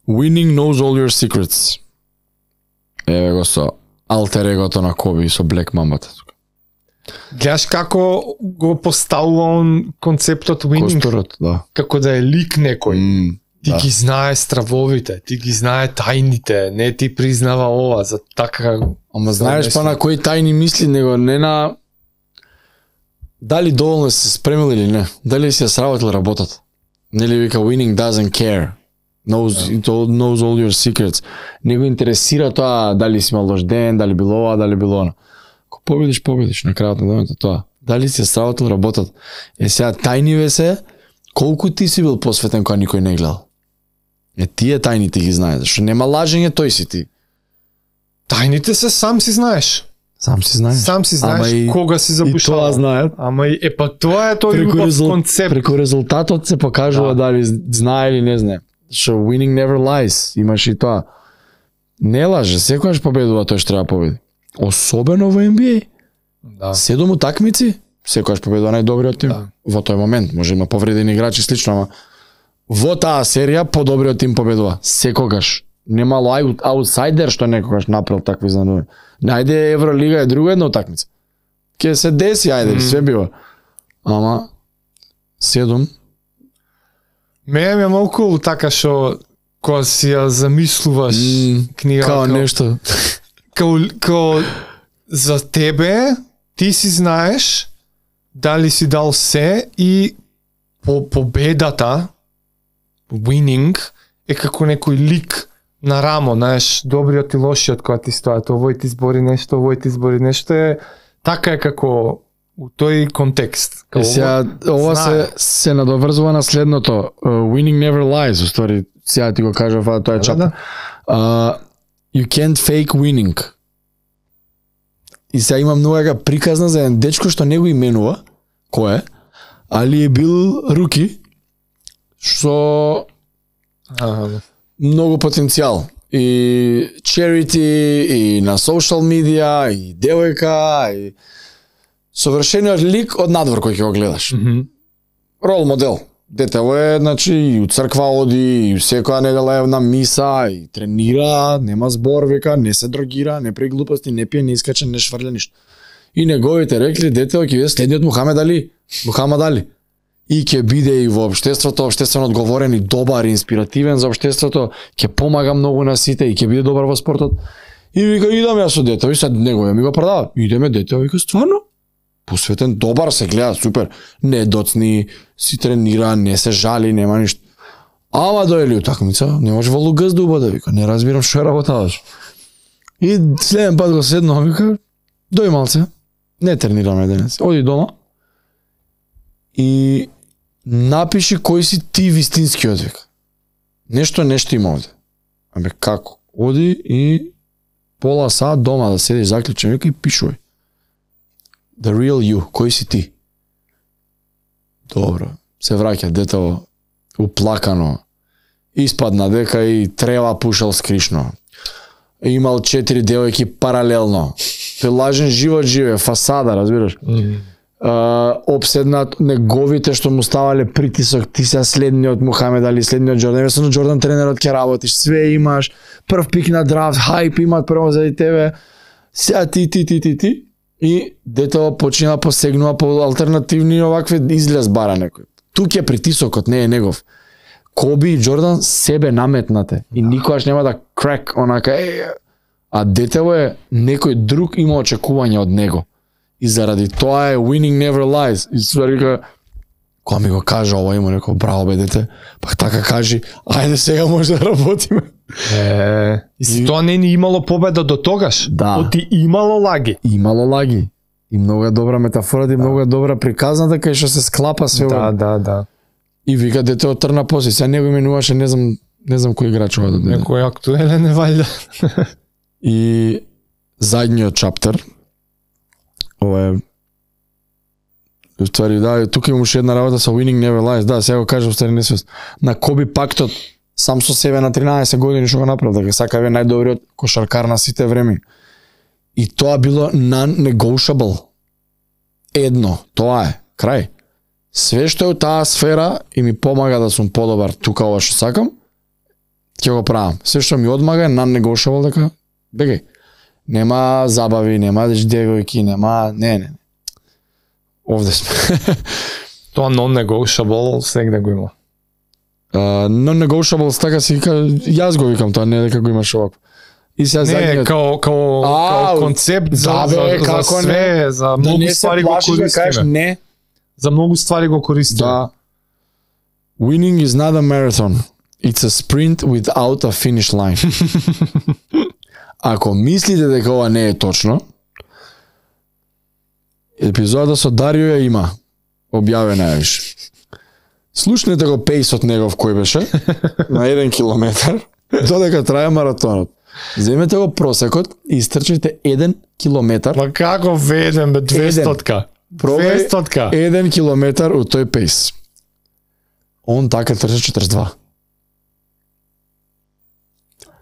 Winning knows all your secrets. Еве го со алтер егото на Коби со Black Mamba-та. Гледаш како го поставува он концептот winning? Косторот, да. Како да е лик некој. Ти ги знае стравовите, ти ги знае тајните, не ти признава ова, за така... Ама знаеш па на кои тајни мисли, него не на... Дали доволно се спремил или не, дали си ја сработил работата. Нели вика winning doesn't care, knows all your secrets. Не го интересира тоа дали си имал лош ден, дали било ова, дали било она. Ако победиш, на крајот на денот тоа. Дали си ја сработил работата. Сега тајниве се, колку ти си бил посветен кога никој не гледал. Тие тајните ги знаеш, зашто нема лажење, тој си ти. Тајните се сам си знаеш. Сам си знаеш кога си запушал. И тоа знаат. Ама тоа е тој убав концепт. Преку резултатот се покажува дали знае или не знае. Што winning never lies, имаш и тоа. Не лаже, секогаш победува тој што треба победи. Особено во NBA. Да. 7 утакмици, секогаш победува најдобриот тим. Во тој момент може има повредени играчи слично, ама во таа серија подобриот тим победува. Секогаш. Немало аутсайдер што некогаш направил такви изненадувања. Најде Евролига е друга една утакмица. Ке се деси, све бива. Ама 7. Мене ми е малку така што кога си ја замислуваш книга као нешто. Као за тебе, ти си знаеш дали си дал се и победата, winning, е како некој лик на рамо, знаеш, добриот и лошиот кога ти стоят, овој ти збори нешто, така е како у тој контекст. Сега, ова се надоврзува на следното. Winning never lies, устори, сега ти го кажав, тоа е чап. You can't fake winning. И сега има многу приказна за еден дечко што не го именува, кој е, али е бил руки, што многу потенцијал. И charity, и на social media, и девојка, и совршениот лик од надвор кој ќе го гледаш. Рол модел. Детево е, значи, и у црква оди, и секоја недела е на миса, и тренира, нема збор, века, не се дрогира, не прави глупости, не пие, не искача, не шврля ништо. И неговите рекли, детево ќе биде следниот Мухамед Али. И ќе биде и во општеството, општествено одговорен и добар, инспиративен за општеството, ќе помага многу на сите и ќе биде добар во спортот. И вика, идам јас со детево, и сад неговија ми го продава. Идеме детево, вика, стварно? Посветен, добар, се гледа, супер. Не доцни, си тренира, не се жали, нема ништо. Ама дојде утакмица, не може во лугаз да убаде, вика, не разбирам што е работаваш. И следен пат го седнав, вика, дој малце, не тренираме денес, оди дома и напиши кој си ти вистинскиот, вика. Нешто има овде. Абе, како? Оди и пола саат дома да седиш заклучен, вика, и пишувај. The real you, кој си ти? Добро, се враќа детево уплакано. Испадна дека и трева пушал скришно. Имал 4 девојки паралелно. Тој лажен живот живе, фасада, разбираш? Обседнат неговите што му ставале притисок, ти се следниот Мухамед Али, следниот Джордан, весно Джордан тренерот ќе работиш, све имаш, прв пик на драфт, хајп имат прво заради тебе. Сега ти. И детево почина посегнува по алтернативни овакви излез бара некој. Тук е притисокот, не е негов. Коби и Джордан себе наметнате и никогаш нема да крак онака а детево е некој друг има очекување од него. И заради тоа е winning never lies. И ствари вика, кога ми го кажа ова, има рекол, браво бе дете, пак така кажи, ајде сега може да работиме. И тоа не ни имало победа до тогаш. Да. Оти имало лаги. Имало лаги. И многу е добра метафора, и многу е добра приказната кај што се склапа све. Да. И вика дете отрна после, сега него именуваше, не знам кој играч ова да деде. Некој актуелен е валјда. И задниот чаптер, ова е ствари, да, тука имаше една работа со Winning Never Lies, да, сега го кажам стари несвест. На Коби Пактот, сам со себе на 13 години што го направил, дека сака бе најдобриот кошаркар на сите време. И тоа било non-negotiable. Едно, тоа е, крај. Све што е у таа сфера и ми помага да сум подобар тука ова што сакам, ќе го правам. Све што ми одмага е non-negotiable, дека бегај. Нема забави, нема девојки, нема, не. Овде сме. Тоа non-negotiable сегде го има. Non-negotiable, така си вика, јас го викам тоа, не дека го имаш овако. И сега Не, као концепт за све, за многу ствари го користиме. Не. За многу ствари го користиме. Да. Winning is not a marathon. It's a sprint without a finish line. Ако мислите дека ова не е точно, епизодата со Дарио ја има. Објавена е виш. Слушнете го пейсот негов кој беше на 1 километар додека трае маратонот. Земете го просекот и истрчите 1 километар. Ма како ведем бе 200-ка? 200-ка. 1 километар у тој пейс. Он така трча 42.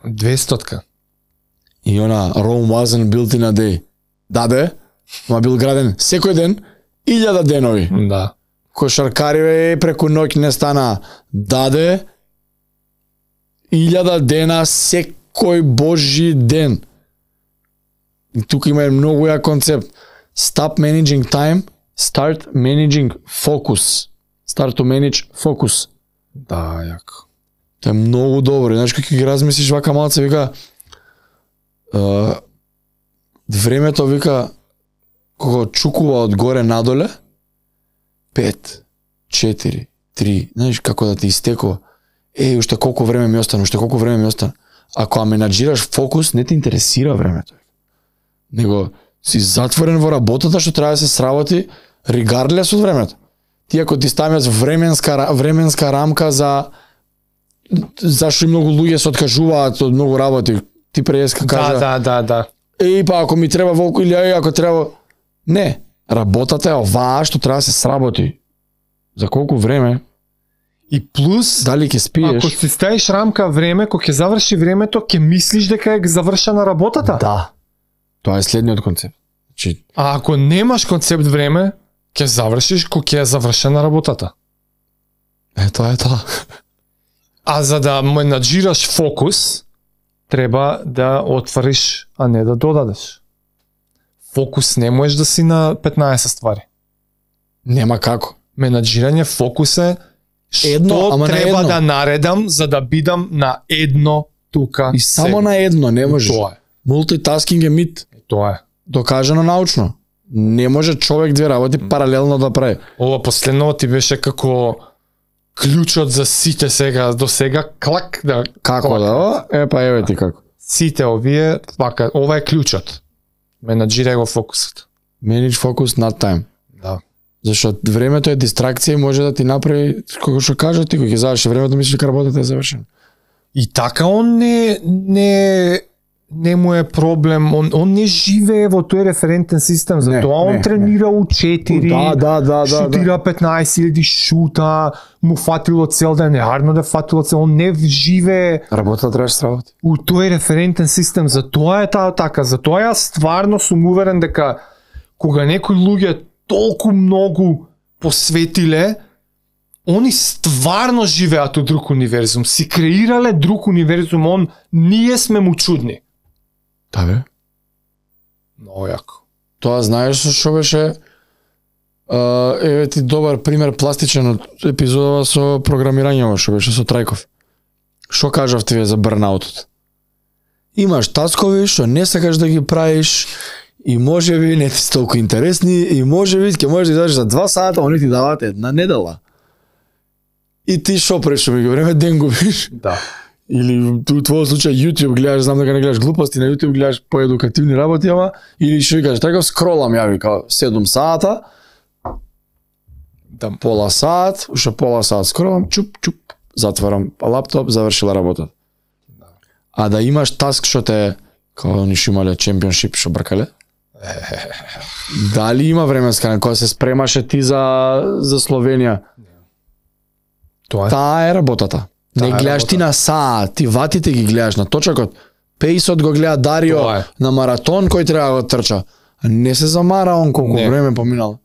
200-ка. И она Rome wasn't built in a day. Да бе, ма бил граден секој ден 1000 денови. Да. Кошаркари преку ноќ не стана. Даде 1000 дена секој божи ден. И тука има многу ја концепт. Stop managing time, start managing focus. Start to manage focus. Да, јако. Тоа е многу добро. Знаеш како ги размислиш вака малце, вика времето, вика, кога чукува од горе надоле, 5, 4, 3, знаеш како да ти истекува. Уште колку време ми остана, Ако менаџираш фокус, не те интересира времето. Него си затворен во работата што треба да се сработи regardless од времето. Ти ако ти ставиш временска рамка зашто и многу луѓе се откажуваат од многу работи, ти преска кажа. Да. Па ако ми треба волку или ако треба, не, работата е оваа што треба да се сработи. За колку време? И плюс, дали ќе спиеш? Ако си ставиш рамка време, кога ќе заврши времето, ќе мислиш дека е завршена работата. Да. Тоа е следниот концепт. А ако немаш концепт време, ќе завршиш кога ќе е завршена работата. Тоа е тоа. А за да менаџираш фокус, треба да отвориш, а не да додадеш. Фокус не можеш да си на 15 ствари. Нема како. Менаџирање фокус е што треба да наредам за да бидам на едно тука. И само на едно не можеш. Тоа е. Мултитаскинг е мит. Тоа е. Докажано научно. Не може човек две работи паралелно да прави. Ова последно ти беше како клучот за сите сега, до сега клак да... Како да? Па еве ти како. Сите овие, вака, ова е клучот. Менаџирај го фокусот. Manage focus, not time. Да. Зашто времето е дистракција и може да ти направи, како што кажа ти, кога ќе заврши времето, мислиш дека работата е завршена. И така он не му е проблем, он не живее во тој референтен систем, затоа он тренира у 4, шутира 15.000 шута, му фатило цел ден, неарно да фатило цел, он не живее работа треба да сработи у тој референтен систем, затоа е таа така, затоа јас стварно сум уверен дека кога некои луѓе толку многу посветиле, они стварно живеат у друг универзум, си креирале друг универзум, ние сме му чудни. Да бе. Много јако. Тоа знаеш што беше еве ти добар пример пластичен од епизодава со програмирањето што беше со Трајков. Што кажавте вие за бърнаутот? Имаш таскови што не сакаш да ги правиш и можеби не ти се толку интересни и можеби ќе можеш да излезеш за 2 сата, они ти даваат една недела. И ти шо прешо ми време ден губиш. Да. Или у твојот случај YouTube гледаш, знам дека не гледаш глупости, на YouTube гледаш поедукативни работи, ама или што кажеш, така скролам ја вика 7 сата, Да. пола сат, уште пола сат скролам, чуп, затварам лаптоп, завршила работа. А да имаш таск што те, као они што имале чемпионшип што бркале? Дали има временска на која се спремаше ти за Словенија? Тоа е. Таа е работата. Не Таа е гледаш ти работа. на саат, ти ватите ги гледаш на точакот. Пейсот го гледа Дарио Тоа е. на маратон кој треба да го трча. А не се замара он колку Не. време поминало.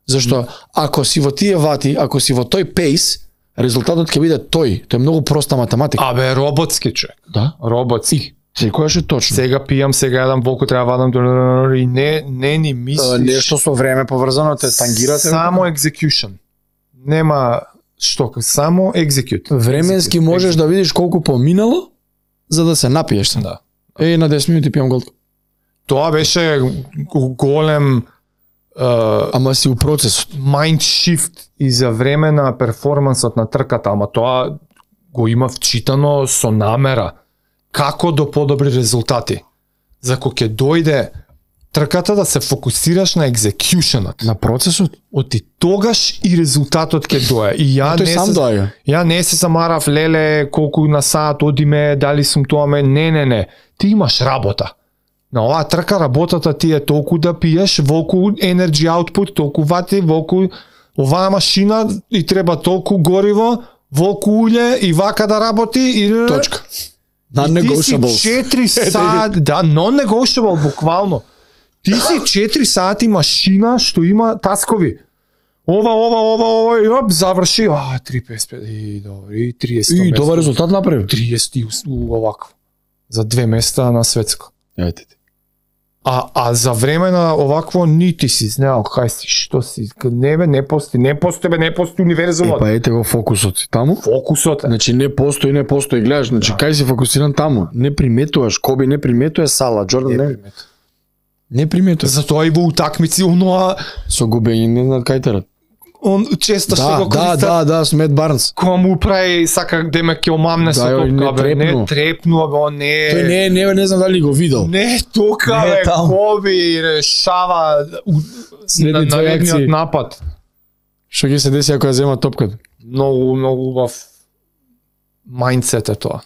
Зашто ако си во тие вати, ако си во тој пейс, резултатот ќе биде тој. Тоа е многу проста математика. Абе, роботски човек. Да? Роботски. Секојаш е точно. Сега пијам, сега јадам, волку треба вадам, и не ни мислиш. Нешто со време поврзано те тангирате. Само execution. Нема што, само execute. Временски можеш да видиш колку поминало за да се напиеш се. Да. На 10 минути пијам голтка. Тоа беше голем Ама си у процесот. mind shift и за време на перформансот на трката, ама тоа го има вчитано со намера. Како до подобри резултати. За кога ќе дојде трката да се фокусираш на executionот. На процесот? Оти тогаш и резултатот ќе дое. И Тој сам доаѓа. Ја не се замарав, леле, колку на саат одиме, дали сум тоа ме, не. Ти имаш работа. На оваа трка работата ти е толку да пиеш, волку energy output, толку вати, волку оваа машина и треба толку гориво, волку улје и вака да работи и Точка. И ти си Non-negotiables. 4 сати, да, non-negotiable буквално. Ти си 4 сати машина што има таскови. Ова, и оп, заврши, 3.55, и добри, и 30 И добар резултат направи. 30 овакво. За 2 места на светско. Ете ти. А за време на овакво нити си знаел кај си, што си, не постои универзумот. Па ете го фокусот си таму. Фокусот е. Значи не постои, гледаш, значи кај си фокусиран таму. Не приметуваш, Коби не приметува Сала, Джордан не приметува. Затоа и во утакмици оноа Со губење не знаат кај терат. он често што го користат. Да, Смет Барнс. Кога му прави сака деме ќе омамне со Да, топка, не бе, трепну. не трепнува, бе, он не. Тој не знам дали го видел. Не тока, Не бе, таму. Коби решава Следни две наредниот акции. напад. Што ќе се деси ако ја зема топката? Многу убав мајндсет е тоа.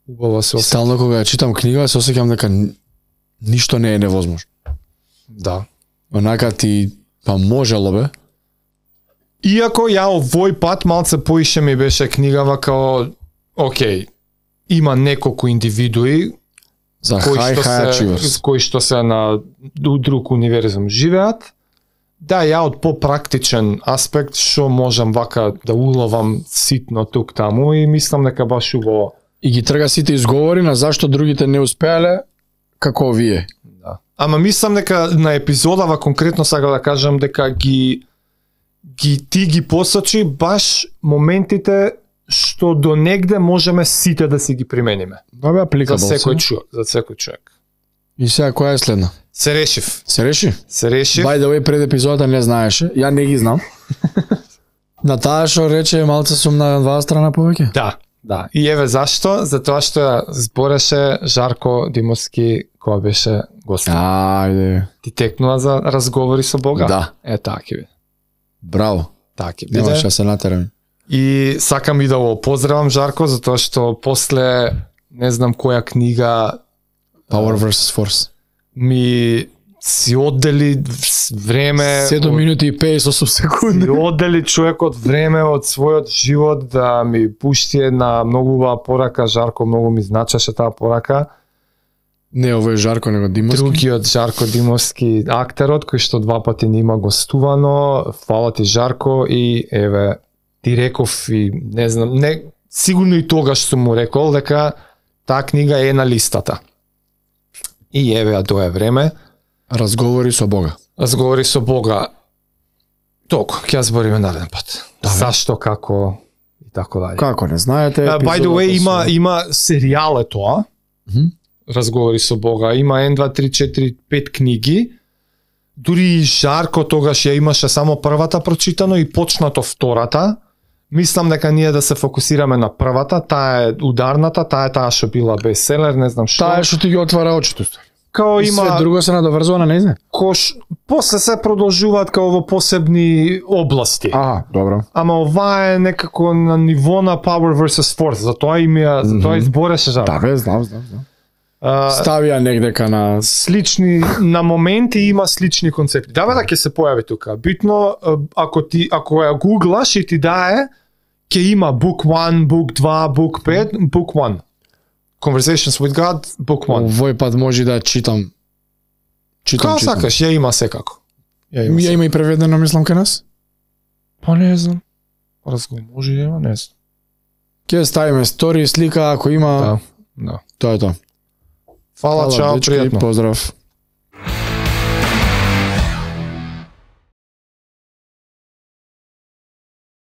Убава се И осеќа. стално кога ја читам книга, се осеќам дека ништо не е невозможно. Да. Онака ти па можело бе. Иако ја овој пат малце поише ми беше книгава као окей, има неколку индивидуи За high achievers. кои што се на друг универзум живеат. Да, ја од попрактичен аспект што можам вака да уловам ситно тук таму и мислам дека баш убаво. И ги трга сите изговори на зашто другите не успеале како вие. Да. Ама мислам дека на епизодава конкретно сакам да кажам дека ти ги посочи баш моментите што до негде можеме сите да си ги примениме. Да бе, За апликабл. секој човек. И сега која е следна? Се решив. Се реши? By the way, пред епизодата не знаеше, ја не ги знам. На таа што рече малце сум на два страна повеќе. Да. И еве зашто? Затоа што ја збореше Жарко Димовски која беше гост. Ајде. Ти текнува за разговори со Бога? Да. Така ќе биде. Браво. Така ќе биде. Немаш да се натерам. И сакам и да го поздравам Жарко затоа што после не знам која книга Power versus Force. ми си оддели време 7 минути и 58 секунди. си оддели човекот време од својот живот да ми пушти една многу убава порака. Жарко многу ми значеше таа порака. Не, овој е Жарко, него Димовски. Другиот Жарко Димовски актерот кој што 2 пати нима гостувано. Фала ти Жарко и еве ти реков и не знам, не сигурно и тогаш сум му рекол дека таа книга е на листата. И еве ја дое време. Разговори со Бога. Разговори со Бога. Толку, ќе ја збориме нареден пат. Да, Зашто, како и така дале. Како не знаете, By the way, има серијал е тоа. Мгм. Разговори со Бога. Има 1, 2, 3, 4, 5 книги. Дури и Жарко тогаш ја имаше само првата прочитано и почнато втората. Мислам дека ние да се фокусираме на првата, таа е ударната, таа што била бестселер, не знам што. Таа што ти ги отвара очите. Као И има све друго се надоврзува на нејзе. после се продолжуваат као во посебни области. Добро. Ама ова е некако на ниво на Power versus Force, затоа затоа избореше Жарко. Да, бе, знам. Ставија негдека на Слични на моменти има слични концепти. Да, бе, ќе се појави тука. Битно ако ја гуглаш и ти дае, ќе има book 1, book 2, book 5, book 1. Conversations with God, book 1. Овој пат може да читам. Како сакаш, ја има секако. Ја има и преведено, мислам, кај нас. Па не знам. Може да има, не знам. Ќе ставиме стори, слика, ако има. Да. Тоа е тоа. Фала, чао, дечки, пријатно. Поздрав.